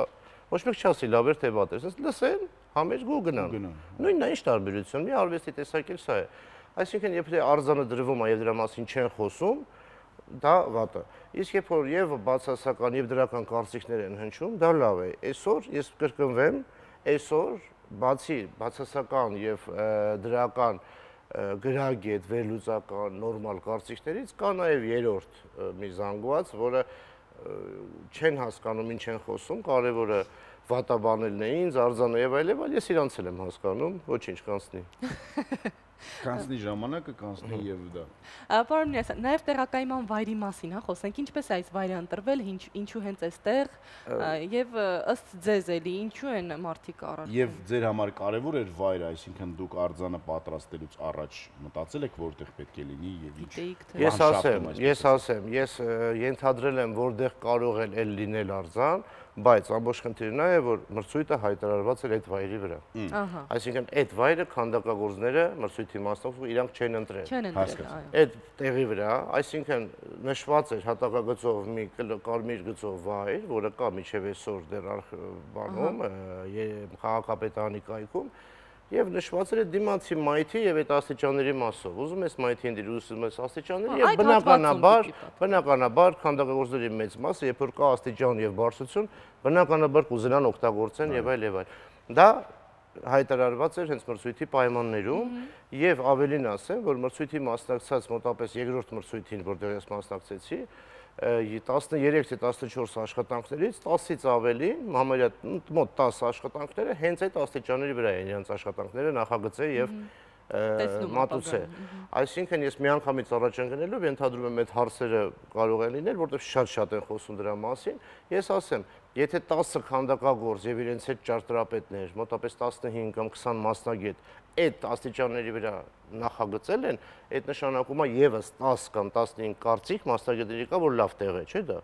ոչ մեկ չասի լավ էր թե վատ էր, ասես լսեն, համերգ ու գնան։ Նույնն է, ինչ տարբերություն, մի արվեստի տեսակ էլ սա է։ Այսինքն, երբ արձանը դրվում է եւ դրա մասին չեն խոսում, դա վատ է։ Իսկ երբ որ եւ բացասական եւ դրական կարծիքներ են հնչում, դա լավ է։ Այսօր ես կրկնվեմ, այսօր բացի բացասական եւ դրական գրագետ, վերլուծական, նորմալ կարծիքներից կա նաեւ երրորդ մի զանգված, որը չեն հասկանում, ինչ են խոսում, կարևորը վատաբանելն է ինձ, արձանը եւ այլ եւ այլ, ես իրանց եմ հասկանում, ոչինչ կանցնի։ Կանցնի ժամանակը, կանցնի եւ դա։ Պարոն Միրասյան, նաեւ տեղակայման վայրի մասին, հա, խոսենք, ինչպես է այս վայրը ընտրվել, ինչու հենց այստեղ եւ ըստ ձեզ էլի ինչու են մարդիկ առարկում։ Եվ ձեր համար կարեւոր էր վայրը, այսինքն դուք արձանը պատրաստելուց առաջ մտածել եք որտեղ պետք է լինի եւ ինչ։ Ես ասեմ, ես ասեմ, ես ենթադրել եմ, որտեղ կարող է էլ լինել արձան, բայց ամբողջ խնդիրն է, որ մրցույթը հայտարարված էր այդ վայրի վրա։ Այսինքն այդ վայրը քանդակագործները մրցույթի մասնակցող իրանք չեն ընտրել։ Չեն ընտրել, այո։ Այդ տեղի վրա, այսինքն նշված էր հատակագծով մի կարմիր գծով վայր, որը կա միջև այսօր դեռ բանում, քաղաքապետարանի կայքում, եւ նշված էր դիմացի մայթի եւ այդ աստիճանների մասով։ Ուզում ես մայթին դիր, ուզում ես աստիճանների եւ բնականաբար, բնականաբար քանդակագործների մեծ մասը, երբ որ կա աստիճան եւ բարձրություն, բնականաբար կուզենան օգտագործեն եւ այլ եւ այլ։ Դա հայտարարված էր հենց մրցույթի պայմաններում եւ ավելին ասեմ, որ մրցույթի մասնակցած մոտապես երկրորդ մրցույթին, որտեղ ես մասնակցեցի, տասներեք թե տասնչորս աշխատանքներից տասից ավելին, համարյա մոտ տասը աշխատանքները հենց այդ աստիճանների վրա են իրենց աշխատանքները նախագծե եւ մատուցե։ Այսինքն ես միանգամից առաջ ընկնելով ենթադրում եմ այդ հարցերը կարող են լինել, որտեղ շատ-շատ են խոսում դրա մասին։ Ես ասեմ, եթե տասը քանդակագործ եւ իրենց հետ ճարտարապետներ, մոտապես տասնհինգ կամ քսան մասնագետ այդ աստիճանների վրա նախագծել են, այդ նշանակում է եւս տասը կամ տասնհինգ կարծիք մասնագետների կա, որ լավ տեղ է, չէ՞ դա։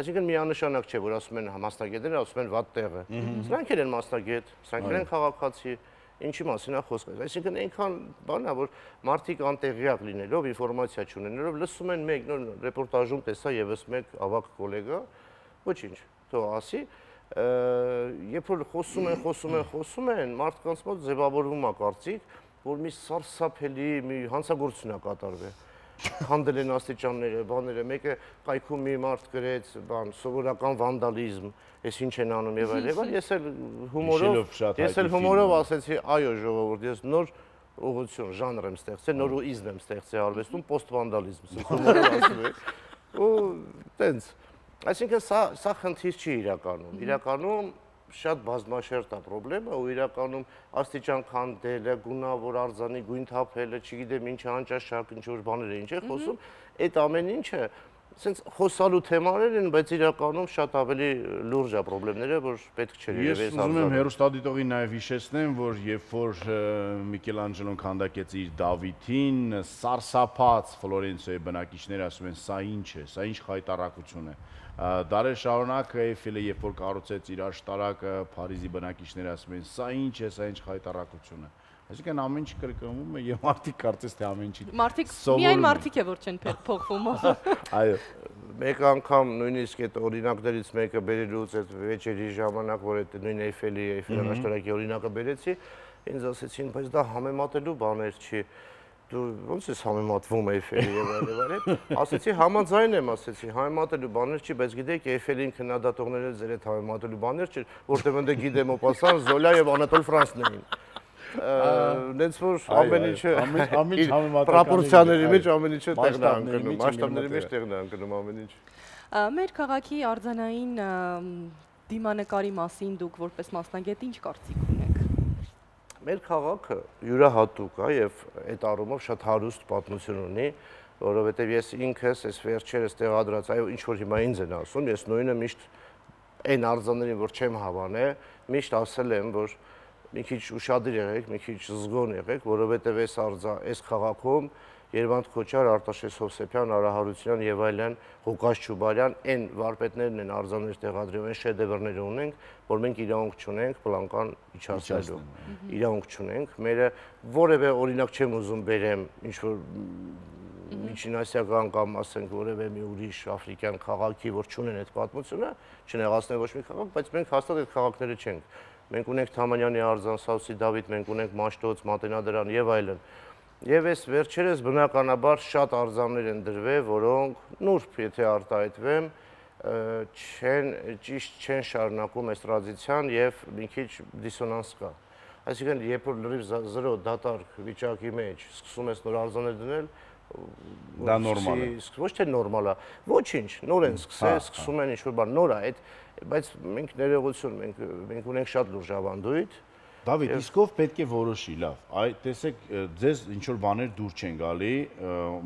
Այսինքն միանշանակ չէ, որ ասում են մասնագետները, ասում են վատ տեղ է։ Սրանք են մասնագետ, սրանք են քաղաքացի, ինչի մասին է խոսքը։ Այսինքն այնքան բան է, որ մարդիկ անտեղյակ լինելով, ինֆորմացիա չունենալով, լսում են մեկ նոր ռեպորտաժում տեսա եւս մեկ ավակ գոլեգա, ոչինչ, թող ասի, երբ որ խոսում են, խոսում են, խոսում են, մարդկանց մոտ ձևավորվում է կարծիք, որ մի սարսափելի մի հանցագործություն է կատարվել։ Քանդել են աստիճանները, բաները, մեկը կայքում մի մարդ գրեց, բան, սովորական վանդալիզմ, ես ինչ են անում եւ այլ եւ այլ, ես էլ հումորով, ես էլ հումորով ասեցի, այո ժողովուրդ, ես նոր ուղղություն, ժանր եմ ստեղծել, նոր իզմ եմ ստեղծել արվեստում, պոստվանդալիզմ, հումորով ասում եմ։ Ու տենց, այսինքն սա սա խնդիր չի իրականում, իրականում շատ բազմաշերտ է խնդրեմը ու իրականում աստիճան քանդելը, գունավոր արձանի գույն թափելը, չգիտեմ ինչ անճաշակ ինչ որ բաներ է, ինչ է խոսում, այդ ամեն ինչը Սենց խոսալու թեմաներ են, բայց իրականում շատ ավելի լուրջ է խնդիրները, որ պետք չէ երևի այս հարցը։ Ես ուզում եմ հեռուստադիտողին նաև հիշեցնեմ, որ երբ որ Միքելանջելոն քանդակեց իր Դավիթին, սարսափած Ֆլորենցիայի բնակիչները ասում են, սա ինչ է, սա ինչ խայտառակություն է։ Դարեր շարունակ Էյֆելը, երբ որ կառուցեց իր աշտարակը, Փարիզի բնակիչները ասում են, սա ինչ է, սա ինչ խայտառակություն է։ Այսինքն ամեն ինչ կրկնվում է եւ մարդիկ կարծես թե ամեն ինչ։ Մարդիկ միայն մարդիկ է որ չեն փոխվում։ Այո, մեկ անգամ նույնիսկ այդ օրինակներից մեկը բերելուց այդ վեճերի ժամանակ, որ այդ նույն Էյֆելի, Էյֆելի աշտարակի օրինակը բերեցի, ինձ ասեցին, բայց դա համեմատելու բաներ չի։ Դու ո՞նց ես համեմատվում Էյֆելի եւ այլ եւ այլ։ Ասեցի համաձայն եմ, ասեցի, համեմատելու բաներ չի, բայց գիտեք Էյֆելին քննադատողները ձեր այդ համեմատելու բաներ չէ, որտեղ ընդ գիտեմ Օպասան, Զոլա եւ Անատոլ Ֆրանսն էին։ Նենց որ ամեն ինչը ամեն ինչ համեմատական պրոպորցիաների մեջ ամեն ինչը տեղն է ընկնում, մասշտաբների մեջ տեղն է ընկնում ամեն ինչ։ Մեր քաղաքի արձանային դիմանկարի մասին դուք որպես մասնագետ ինչ կարծիք ունեք։ Մեր քաղաքը յուրահատուկ է եւ այդ առումով շատ հարուստ պատմություն ունի, որովհետեւ ես ինքս այս վերջերս տեղադրած, այո, ինչ որ հիմա ինձ են ասում, ես նույնը միշտ այն արձաններին, որ չեմ հավանել, միշտ ասել եմ, որ մի քիչ ուշադիր եղեք, մի քիչ զգոն եղեք, որովհետև այս արձա, այս քաղաքում Երվանդ Քոչար, Արտաշես Հովսեփյան, Արա Հարությունյան եւ այլն, Ղուկաս Չուբարյան, այն վարպետներն են արձաններ տեղադրում, այն շեդևրներ ունենք, որ մենք իրավունք չունենք պլանկան իջացնելու։ Իրավունք չունենք, մերը որևէ օրինակ չեմ ուզում բերեմ, ինչ որ միջինասիական կամ ասենք որևէ մի ուրիշ աֆրիկյան քաղաքի, որ չունեն այդ պատմությունը, չնեղացնեն ոչ մի քաղաք, բայց մենք հաստատ այդ քաղաքները չենք։ Մենք ունենք Թամանյանի արձան, Սաուսի Դավիթ, մենք ունենք Մաշտոց, Մատենադարան եւ այլն։ Եվ այս վերջերս բնականաբար շատ արձաններ են դրվել, որոնք նուրբ, եթե արտահայտվեմ, չեն ճիշտ չեն շարունակում այս տրադիցիան եւ մի քիչ դիսոնանս կա։ Այսինքն, երբ որ լրիվ զրո դատարկ վիճակի մեջ սկսում ես նոր արձաններ դնել, դա նորմալ է։ Ոչ թե նորմալ է, ոչինչ, նոր են սկսել, սկսում են ինչ-որ բան, նոր է, այդ բայց մենք ներողություն, մենք մենք ունենք շատ լուրջ ավանդույթ։ Դավիթ, իսկ ով պետք է որոշի, լավ, այ տեսեք, ձեզ ինչ-որ բաներ դուր չեն գալի,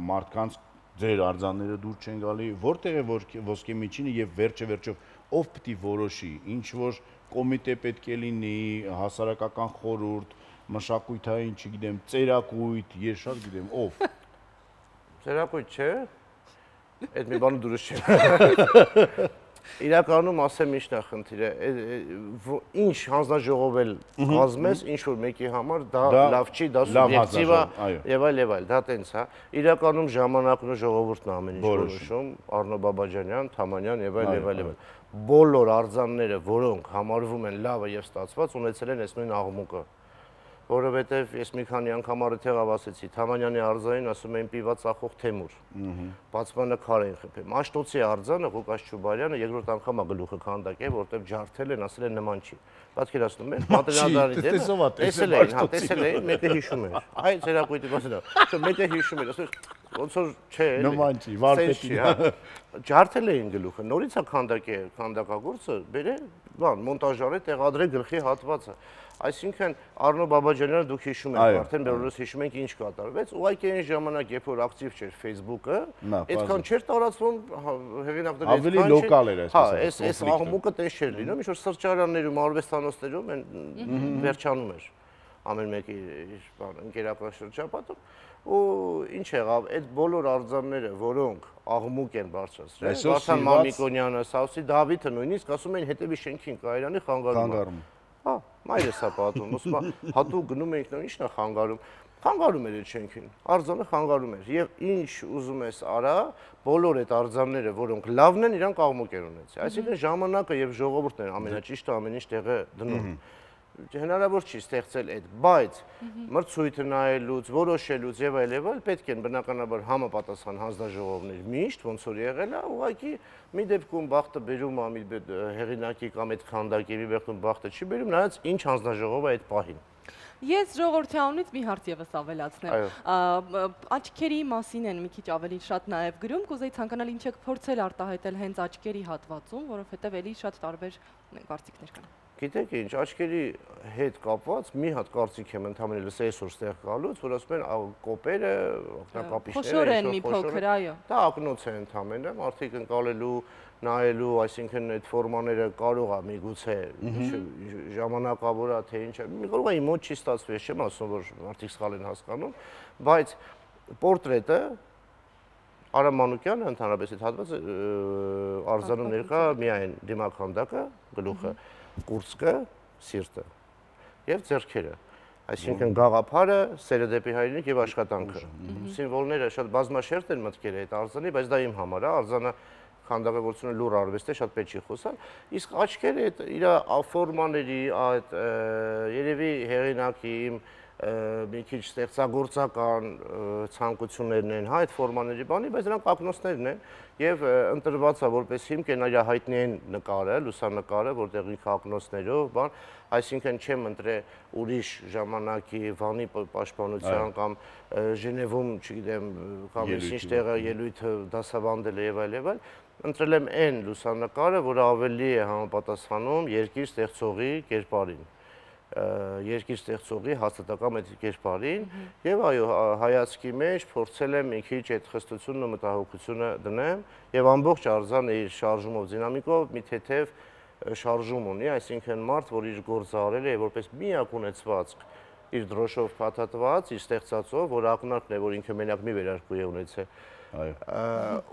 մարդկանց ձեր արձանները դուր չեն գալի, որտեղ է ոսկե միջինը եւ վերջը վերջով ով պետք է որոշի, ինչ որ կոմիտե պետք է լինի, հասարակական խորհուրդ, մշակութային, չգիտեմ, ծերակույտ, ես շատ գիտեմ, ով։ Ծերակույտ չէ։ Այդ մի բանը դուրս չէ։ Իրականում ասեմ ինչն է խնդիրը, ինչ հանձնաժողովել կազմես, ինչ որ մեկի համար դա լավ չի, դա սուբյեկտիվ է եւ այլ եւ այլ, դա տենց է։ Իրականում ժամանակն ու ժողովուրդն է ամեն ինչ որոշում, Արնո Բաբաջանյան, Թամանյան եւ այլ եւ այլ եւ այլ։ Բոլոր արձանները, որոնք համարվում են լավը եւ ստացված, ունեցել են այս նույն աղմուկը։ Որովհետև ես մի քանի անգամ արդյունավ ասեցի, Թամանյանի արձանին ասում էին պիված ախող Թեմուր, բացմանը քար էին խփել։ Մաշտոցի արձանը Ղուկաս Չուբարյանը երկրորդ անգամ է գլուխը քանդակել, որտեղ ջարդել են, ասել են նման չի։ Պատկերացնում եք, Մատենադարանի դեպքը տեսել էին, հա, տեսել էին, մեկը հիշում էր։ Այ ծերակույտի մասը, չէ, մեկը հիշում էր, ասել ոնց որ չէ, նման չի, վարպետի, հա։ Ջարդել էին գլուխը, նորից է քանդակել, քանդակագործը, բերել, բան, մոնտաժարը տեղադրել գլխի հատվածը։ Այսինքն Արնո Բաբաջանյանը դուք հիշում եք, արդեն բոլորս հիշում ենք ինչ կատարվեց, ուղղակի այն ժամանակ, երբ որ ակտիվ չէր Facebook-ը, այդքան չէր տարածվում հեղինակների ավելի լոկալ էր այսպես։ Հա, այս այս աղմուկը տես չէր լինում, ինչ որ սրճարաններում, արվեստանոցներում են վերջանում էր ամեն մեկի իր բան ընկերական շրջապատում ու ինչ եղավ, այդ բոլոր արձանները, որոնք աղմուկ են բարձրացրել, Վարդան Մամիկոնյանը, Սաուսի Դավիթը նույնիսկ ասում էին հետևի շենքին կայարանի խանգարում։ Հա, մայրս է պատում, ասում է, հատուկ գնում ենք, նա ի՞նչն է խանգարում։ Խանգարում էր այդ շենքին, արձանը խանգարում էր։ Եվ ինչ ուզում ես արա, բոլոր այդ արձանները, որոնք լավն են, իրանք աղմուկ են ունեցել։ Այսինքն ժամանակը եւ ժողովուրդն են ամենաճիշտը ամեն ինչ տեղը դնում։ Հնարավոր չի ստեղծել այդ, բայց մրցույթը նայելուց, որոշելուց եւ այլ եւ այլ պետք են բնականաբար համապատասխան հանձնաժողովներ միշտ ոնց որ եղել է, ուղղակի մի դեպքում բախտը բերում է մի հեղինակի կամ այդ քանդակի, մի դեպքում բախտը չի բերում, նայած ինչ հանձնաժողովը այդ պահին։ Ես ժողովրդի անունից մի հարց եւս ավելացնեմ։ Աչքերի մասին են մի քիչ ավելի շատ նաեւ գրում, կուզեի ցանկանալ ինչ եք փորձել արտահայտել հենց աչքերի հատվածում, որովհետեւ էլի շատ տարբեր կարծիքներ կան։ Գիտեք ինչ, աչքերի հետ կապված մի հատ կարծիք եմ ընդհանրապես լսել այսօր ստեղ գալուց, որ ասում են կոպերը, օգնակապիչները, խոշոր են մի փոքր, այո։ Դա ակնոց է ընդհանրապես, մարդիկ ընկալելու, նայելու, այսինքն այդ ֆորմաները կարող է միգուցե ժամանակավոր է թե ինչ է։ Մի կարող է իմ մոտ չի ստացվի, ես չեմ ասում, որ մարդիկ սխալ են հասկանում, բայց պորտրետը Արամ Մանուկյանը ընդհանրապես այդ հատվածը արձանում ներկա միայն դիմականդակը, գլուխը, կուրծքը, սիրտը եւ ձեռքերը։ Այսինքն գաղափարը, սերը դեպի հայրենիք եւ աշխատանքը։ Սիմվոլները շատ բազմաշերտ են մտքերը այդ արձանի, բայց դա իմ համար է, արձանը քանդակագործությունը լուր արվեստ է, շատ պետք չի խոսալ։ Իսկ աչքերը այդ իր ֆորմաների, այդ երևի հեղինակի իմ մի քիչ ստեղծագործական ցանկություններն են, հա, այդ ֆորմաների բանի, բայց նրանք ակնոցներն են եւ ընտրված է որպես հիմք են իր հայտնի են նկարը, լուսանկարը, որտեղ ինքը ակնոցներով, բան, այսինքն չեմ ընտրել ուրիշ ժամանակի Վանի պաշտպանության կամ Ժնևում, չգիտեմ, կամ ինչ տեղը ելույթը դասավանդել է եւ այլ եւ այլ, ընտրել եմ այն լուսանկարը, որը ավելի է համապատասխանում երկիր ստեղծողի կերպարին։ Երկիր ստեղծողի հաստատակամ այդ կերպարին եւ այո հայացքի մեջ փորձել եմ մի քիչ այդ խստությունն ու մտահոգությունը դնեմ եւ ամբողջ արձանը իր շարժումով դինամիկով մի թեթև շարժում ունի, այսինքն մարդ, որ իր գործը արել է որպես միակ ունեցվածք իր դրոշով փաթաթված, իր ստեղծածով, որ ակնարկն է, որ ինքը մենակ մի վերարկու է ունեցել։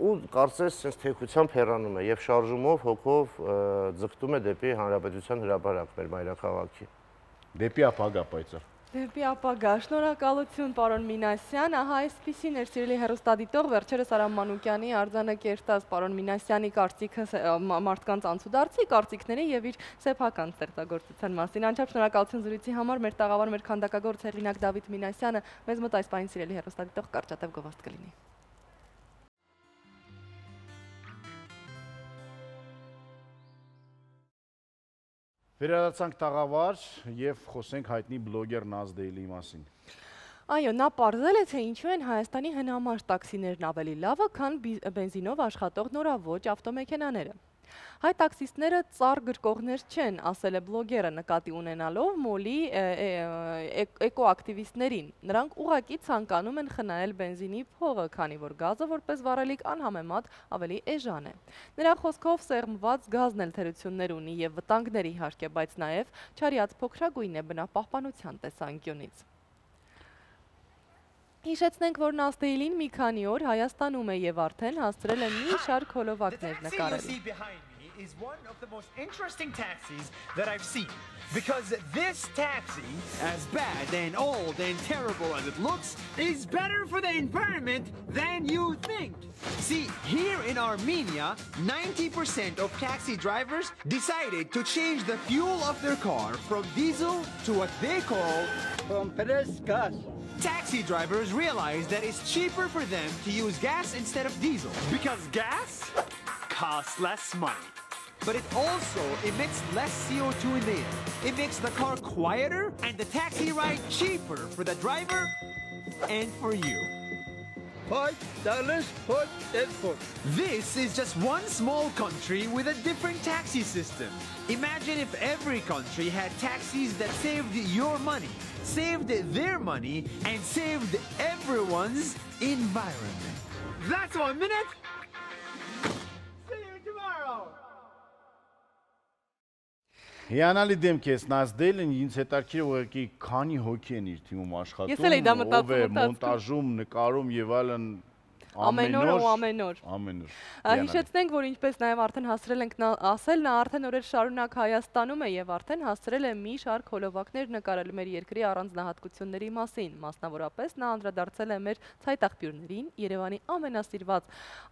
Ու կարծես sense թեքությամբ հեռանում է եւ շարժումով հոգով ձգտում է դեպի հանրապետության հրապարակ մեր մայրաքաղաքի։ Դեպի ապագա պայծառ։ Դեպի ապագա, շնորհակալություն պարոն Մինասյան, ահա այսպիսին էր սիրելի հեռուստադիտող, վերջերս Արամ Մանուկյանի արձանը կերտած պարոն Մինասյանի կարծիքը մարդկանց անցուդարձի կարծիքների եւ իր սեփական ստեղծագործության մասին։ Անչափ շնորհակալություն զրույցի համար, մեր տաղավար, մեր քանդակագործ հեղինակ Դավիթ Մինասյանը մեզ մոտ այս պահին սիրելի հեռուստադիտող կարճատև գովազդ կլինի։ Վերադարձանք տաղավար եւ խոսենք հայտնի բլոգեր Նազդեյլի մասին։ Այո, նա պարզել է, թե ինչու են Հայաստանի հնամաշ տաքսիներն ավելի լավը, քան բենզինով աշխատող նորաոճ ավտոմեքենաները։ Հայ տաքսիստները ծառ գրկողներ չեն, ասել է բլոգերը նկատի ունենալով մոլի էկոակտիվիստներին։ Նրանք ուղղակի ցանկանում են խնայել բենզինի փողը, քանի որ գազը որպես վառելիք անհամեմատ ավելի էժան է։ Նրա խոսքով սեղմված գազն էլ թերություններ ունի եւ վտանգներ իհարկե, բայց նաեւ չարիած փոքրագույն է բնապահպանության տեսանկյունից։ Հիշեցնենք, որ Նազդեյլին մի քանի օր Հայաստանում է եւ արդեն հասցրել է մի շարք հոլովակներ նկարել։ Is one of the most interesting taxis that I've seen, because this taxi, as bad and old and terrible as it looks, is better for the environment than you think. See, here in Armenia, ninety percent of taxi drivers decided to change the fuel of their car from diesel to what they call compressed gas. Taxi drivers realize that it's cheaper for them to use gas instead of diesel, because gas costs less money. But it also emits less C O two in the air. It makes the car quieter and the taxi ride cheaper for the driver and for you. Five dollars for transport. This is just one small country with a different taxi system. Imagine if every country had taxis that saved your money, saved their money, and saved everyone's environment. That's one minute. See you tomorrow. Հիանալի դեմք ես Նազդեյլին, ինձ հետաքրքիր ուղղակի քանի հոգի են իր թիմում աշխատում, ես էլ էի դա մտածում, ով է մոնտաժում, նկարում եւ այլն ամեն օր ու ամեն օր։ Ամեն օր։ Հիշեցնենք, որ ինչպես նաև արդեն հասցրել ենք ասել, նա արդեն օրեր շարունակ Հայաստանում է եւ արդեն հասցրել է մի շարք հոլովակներ նկարել մեր երկրի առանձնահատկությունների մասին։ Մասնավորապես նա անդրադարձել է մեր ցայտաղբյուրներին, Երևանի ամենասիրված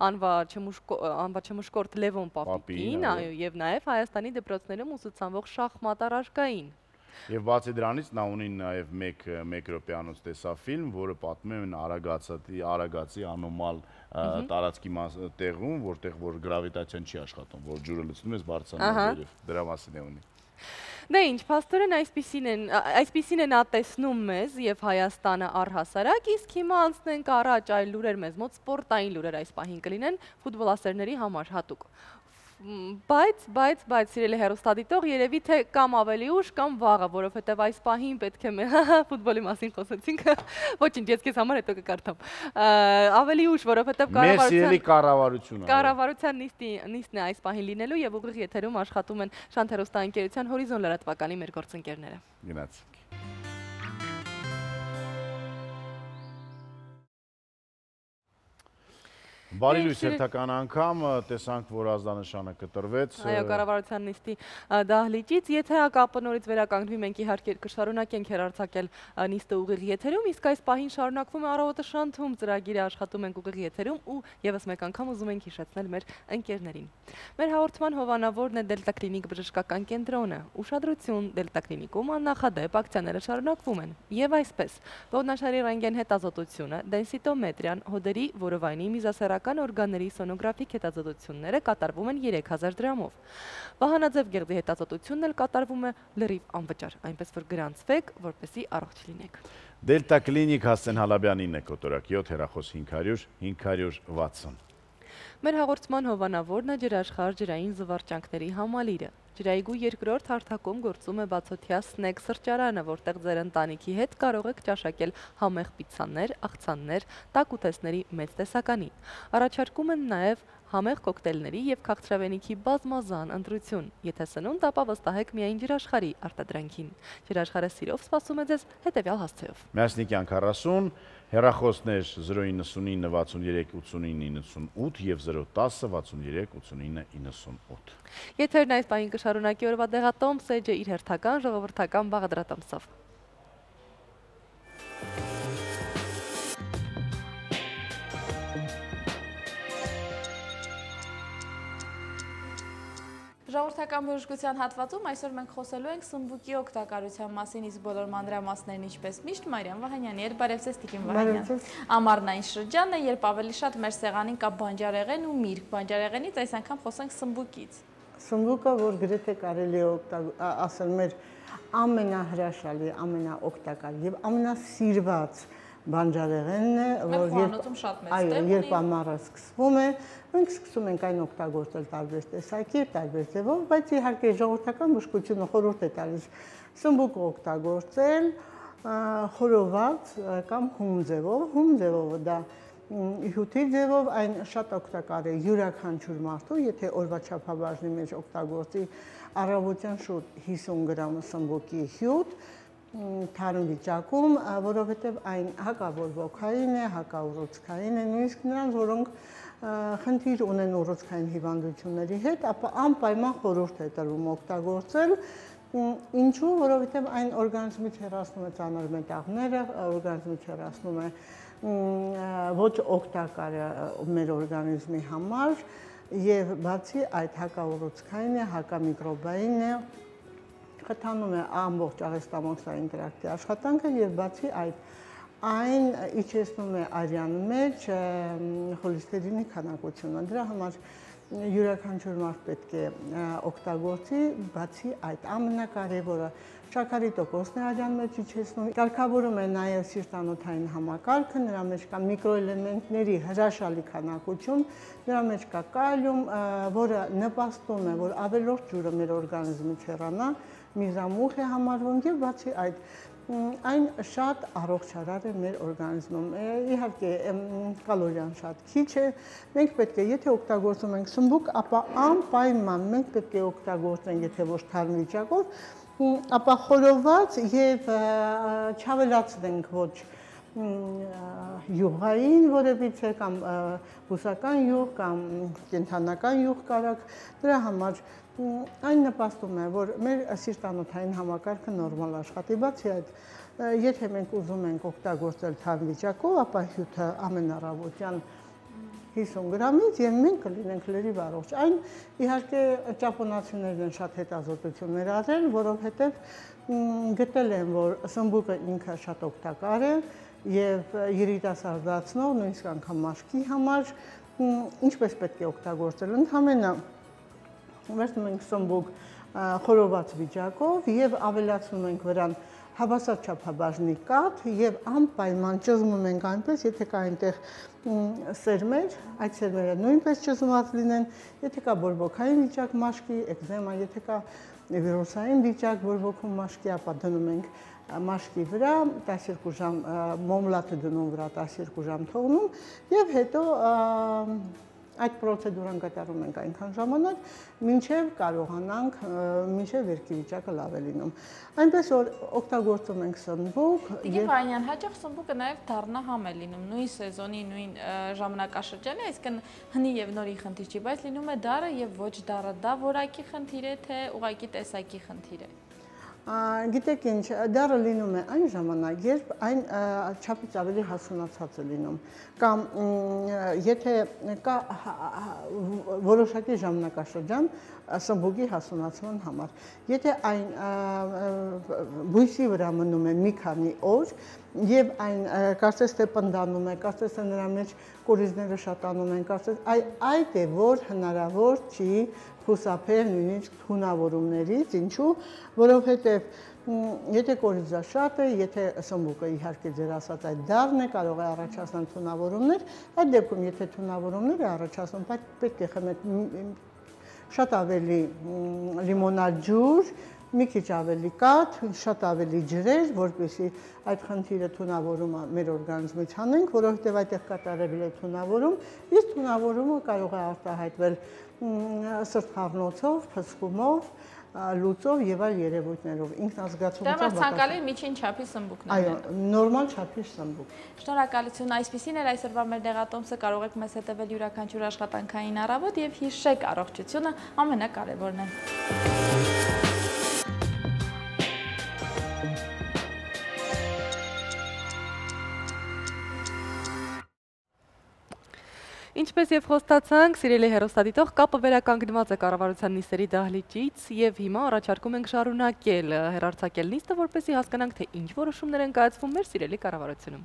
անվաչմուշկորտ Լևոն Պապիկին, այո, եւ նաև Հայաստանի դպրոցներում ուսուցանվող շախմատ առարկային։ Եվ բացի դրանից նա ունի նաև մեկ մեկ րոպեանոց տեսաֆիլմ, որը պատմում է Արագածի անոմալ տարածքի տեղում, որտեղ որ գրավիտացիան չի աշխատում, որ ջուրը լցնում ես բարձրանում վերև, դրա մասին է ունի։ Դե ինչ, փաստորեն այսպիսին է նա տեսնում մեզ եւ Հայաստանը առհասարակ, իսկ հիմա անցնենք առաջ այլ լուրեր մեզ մոտ, սպորտային լուրեր այս պահին կլինեն ֆուտբոլասերների համար հատուկ։ Բայց, բայց, բայց, սիրելի հեռուստադիտող, երևի թե կամ ավելի ուշ, կամ վաղը, որովհետև այս պահին պետք է մեր ֆուտբոլի մասին խոսեցինք, ոչինչ, ես քեզ համար հետո կկարդամ, ավելի ուշ, որովհետև կառավարության նիստն է այս պահին լինելու և ուղիղ եթերում աշխատում են Շանթ հեռուստաընկերության Հորիզոն լրատվականի մեր գործընկերները։ Գնացինք։ Բարի լույս հերթական անգամ, տեսանք, որ ազդանշանը կտրվեց։ Այո, կառավարության նիստի դահլիճից, եթե կապը նորից վերականգնվի, մենք իհարկե կշարունակենք հեռարձակել նիստը ուղիղ եթերում, իսկ այս պահին շարունակվում է Առավոտը Շանթում ծրագիրը, աշխատում ենք ուղիղ եթերում ու ևս մեկ անգամ ուզում ենք հիշեցնել մեր ընկերներին։ Մեր հաղորդման հովանավորն է Դելտա Կլինիկ բժշկական կենտրոնը։ Ուշադրություն, Դելտա Կլինիկում աննախադեպ ակցիաները շարունակվում են։ Եվ այսպես, ողնաշարի ռենտգեն հետազոտությունը, դենսիտոմետրիան, հոդերի, որովայնի, միզասեռական օրգանների սոնոգրաֆիկ հետազոտությունները կատարվում են երեք հազար դրամով։ Վահանաձև գեղձի հետազոտությունն էլ կատարվում է լրիվ անվճար, այնպես որ գրանցվեք, որպեսզի առողջ լինեք։ Դելտա Կլինիկ Հասեն Հալաբյանին է կոտորակ յոթ հեռախոս հինգ հարյուր հինգ հարյուր վաթսուն։ Մեր հաղորդման հովանավորն է ջրաշխարհ ջրային զվարճանքների համալիրը։ Ջրայգու երկրորդ հարթակում գործում է բացօթյա սնեք սրճարանը, որտեղ ձեր ընտանիքի հետ կարող եք ճաշակել համեղ պիցցաներ, աղցաններ, տաք ուտեստների մեծ տեսականի։ Առաջարկում են նաև համեղ կոկտեյլների և քաղցրավենիքի բազմազան ընտրություն։ Եթե սնունդ, ապա վստահեք միայն ջրաշխարհի արտադրանքին։ Ջրաշխարհը սիրով սպասում է ձեզ հետևյալ հասցեով։ Միասնիկյան քառասուն, հեռախոսներ զրո իննսունինը վաթսուններեք ութսունինը իննսունութ և զրո տասը վաթսուններեք ութսունինը իննսունութ։ Եթերն այս պահին կշարունակի օրվա դեղատոմս էջը իր հերթական ժողովրդական բաղադրատոմսով։ Ժողովրդական բժշկության հատվածում այսօր մենք խոսելու ենք սմբուկի օգտակարության մասին, իսկ բոլոր մանրամասներն ինչպես միշտ Մարիամ Վահանյանի հետ, բարև ձեզ Տիկին Վահանյան։ Ամառնային շրջանն է, երբ ավելի շատ մեր սեղանին կա բանջարեղեն ու միրգ։ Բանջարեղենից այս անգամ խոսենք սմբուկից։ Սմբուկը, որ գրեթե կարելի է ասել մեր ամենահրաշալի, ամենաօգտակար եւ ամենասիրված բանջարեղենն է, որ երբ ամառը սկսվում է, մենք սկսում ենք այն օգտագործել տարբեր տեսակի, տարբեր ձևով, բայց իհարկե ժողովրդական բժշկությունը խորհուրդ է տալիս սմբուկը օգտագործել խորոված կամ հում ձևով, հում ձևով դա հյութի ձևով այն շատ օգտակար է յուրաքանչյուր մարդու, եթե օրվա չափաբաժնի մեջ օգտագործի առավոտյան շուտ հիսուն գրամ սմբուկի հյութ, թարմ վիճակում, որովհետև այն հակաբորբոքային է, հակաուռուցքային է, նույնիսկ նրանց, որոնք խնդիր ունեն ուռուցքային հիվանդությունների հետ, ապա անպայման խորհուրդ է տրվում օգտագործել, ինչու, որովհետև այն օրգանիզմից հեռացնում է ծանր մետաղները, օրգանիզմից հեռացնում է ոչ օգտակար մեր օրգանիզմի համար եւ բացի այդ հակաուռուցքային է, հակամիկրոբային է, խթանում է ամբողջ աղեստամոքսային տրակտի աշխատանքը եւ բացի այդ այն իջեցնում է արյան մեջ խոլեստերինի քանակությունը։ Դրա համար յուրաքանչյուր մարդ պետք է օգտագործի, բացի այդ ամենակարևորը շաքարի տոկոսն է արյան մեջ իջեցնում, կարգավորում է նաև սիրտանոթային համակարգը, նրա մեջ կա միկրոէլեմենտների հրաշալի քանակություն, նրա մեջ կա կալիում, որը նպաստում է, որ ավելորդ ջուրը մեր օրգանիզմից հեռանա, միզամուխ է համարվում եւ բացի այդ այն շատ առողջարար է մեր օրգանիզմում։ Իհարկե կալորիան շատ քիչ է, մենք պետք է, եթե օգտագործում ենք սմբուկ, ապա անպայման մենք պետք է օգտագործենք, եթե ոչ թարմ վիճակով, ապա խորոված եւ չավելացնենք ոչ յուղային որևիցե կամ բուսական յուղ կամ կենդանական յուղ կարակ, դրա համար այն նպաստում է, որ մեր սիրտանոթային համակարգը նորմալ աշխատի, բացի այդ, եթե մենք ուզում ենք օգտագործել թարմ վիճակով, ապա հյութը ամեն առավոտյան հիսուն գրամից եւ մենք կլինենք լրիվ առողջ։ Այն իհարկե ճապոնացիներն են շատ հետազոտություններ արել, որովհետեւ գտել են, որ սմբուկը ինքը շատ օգտակար է եւ երիտասարդացնող, նույնիսկ անգամ մաշկի համար, ինչպես պետք է օգտագործել, ընդհանրապես վերցնում ենք սմբուկ խորոված վիճակով եւ ավելացնում ենք վրան հավասար չափաբաժնի կաթ եւ անպայման ճզմում ենք այնպես, եթե կա այնտեղ սերմեր, այդ սերմերը նույնպես ճզմված լինեն, եթե կա բորբոքային վիճակ մաշկի, էկզեմա, եթե կա վիրուսային վիճակ բորբոքում մաշկի, ապա դնում ենք մաշկի վրա, տասներկու ժամ մոմլատը դնում վրա, տասներկու ժամ թողնում եւ հետո այդ պրոցեդուրան կատարում ենք այնքան ժամանակ, մինչև կարողանանք, մինչև վերքի վիճակը լավ է լինում։ Այնպես որ օգտագործում ենք սնբուկ։ Տիկին Վանյան, հաճախ սնբուկը նաև դառնահամ է լինում, նույն սեզոնի, նույն ժամանակաշրջանի, այսինքն հնի եւ նորի խնդիր չի, բայց լինում է դառը եւ ոչ դառը, դա որակի խնդիր է, թե ուղղակի տեսակի խնդիր է։ Գիտեք ինչ, դառը լինում է այն ժամանակ, երբ այն չափից ավելի հասունացած է լինում, կամ եթե կա որոշակի ժամանակաշրջան սնբուկի հասունացման համար, եթե այն բույսի վրա մնում է մի քանի օր եւ այն կարծես թե պնդանում է, կարծես թե նրա մեջ կորիզները շատանում են, կարծես այդ է, որ հնարավոր չի խուսափել նույնիսկ թունավորումներից, ինչու, որովհետև եթե կորիզը շատ է, եթե սնբուկը իհարկե ձեր ասած այդ դառն է, կարող է առաջացնել թունավորումներ, այդ դեպքում եթե թունավորումներ է առաջացնում, պետք է խմել շատ ավելի լիմոնադ ջուր, մի քիչ ավելի կաթ, շատ ավելի ջրեր, որպեսզի այդ խնդիրը թունավորումը մեր օրգանիզմից հանենք, որովհետև այդտեղ կատարվել է թունավորում, իսկ թունավորումը կարող է արտահայտվել սրտխառնոցով, փսխումով, լուծով եւ այլ երևույթներով, ինքնազգացումով։ Դա ցանկալի միջին չափի սնբուկն է։ Այո, նորմալ չափի սնբուկ։ Շնորհակալություն, այսպեսին էր այսօրվա մեր դեղատոմսը, կարող եք մեզ հետևել յուրաքանչյուր աշխատանքային առավոտ եւ հիշեք առողջությունը ամենակարևորն է։ Ինչպես եւ խոստացանք, սիրելի հեռուստադիտող, կապը վերականգնված է կառավարության նիստերի դահլիճից եւ հիմա առաջարկում ենք շարունակել հեռարձակել նիստը, որպեսզի հասկանանք, թե ինչ որոշումներ են կայացվում մեր սիրելի կառավարությունում։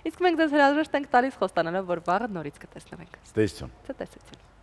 Իսկ մենք ձեզ հրաժեշտ ենք տալիս խոստանալով, որ վաղը նորից կտեսնվենք։ Ցտեսություն։ Ցտեսություն։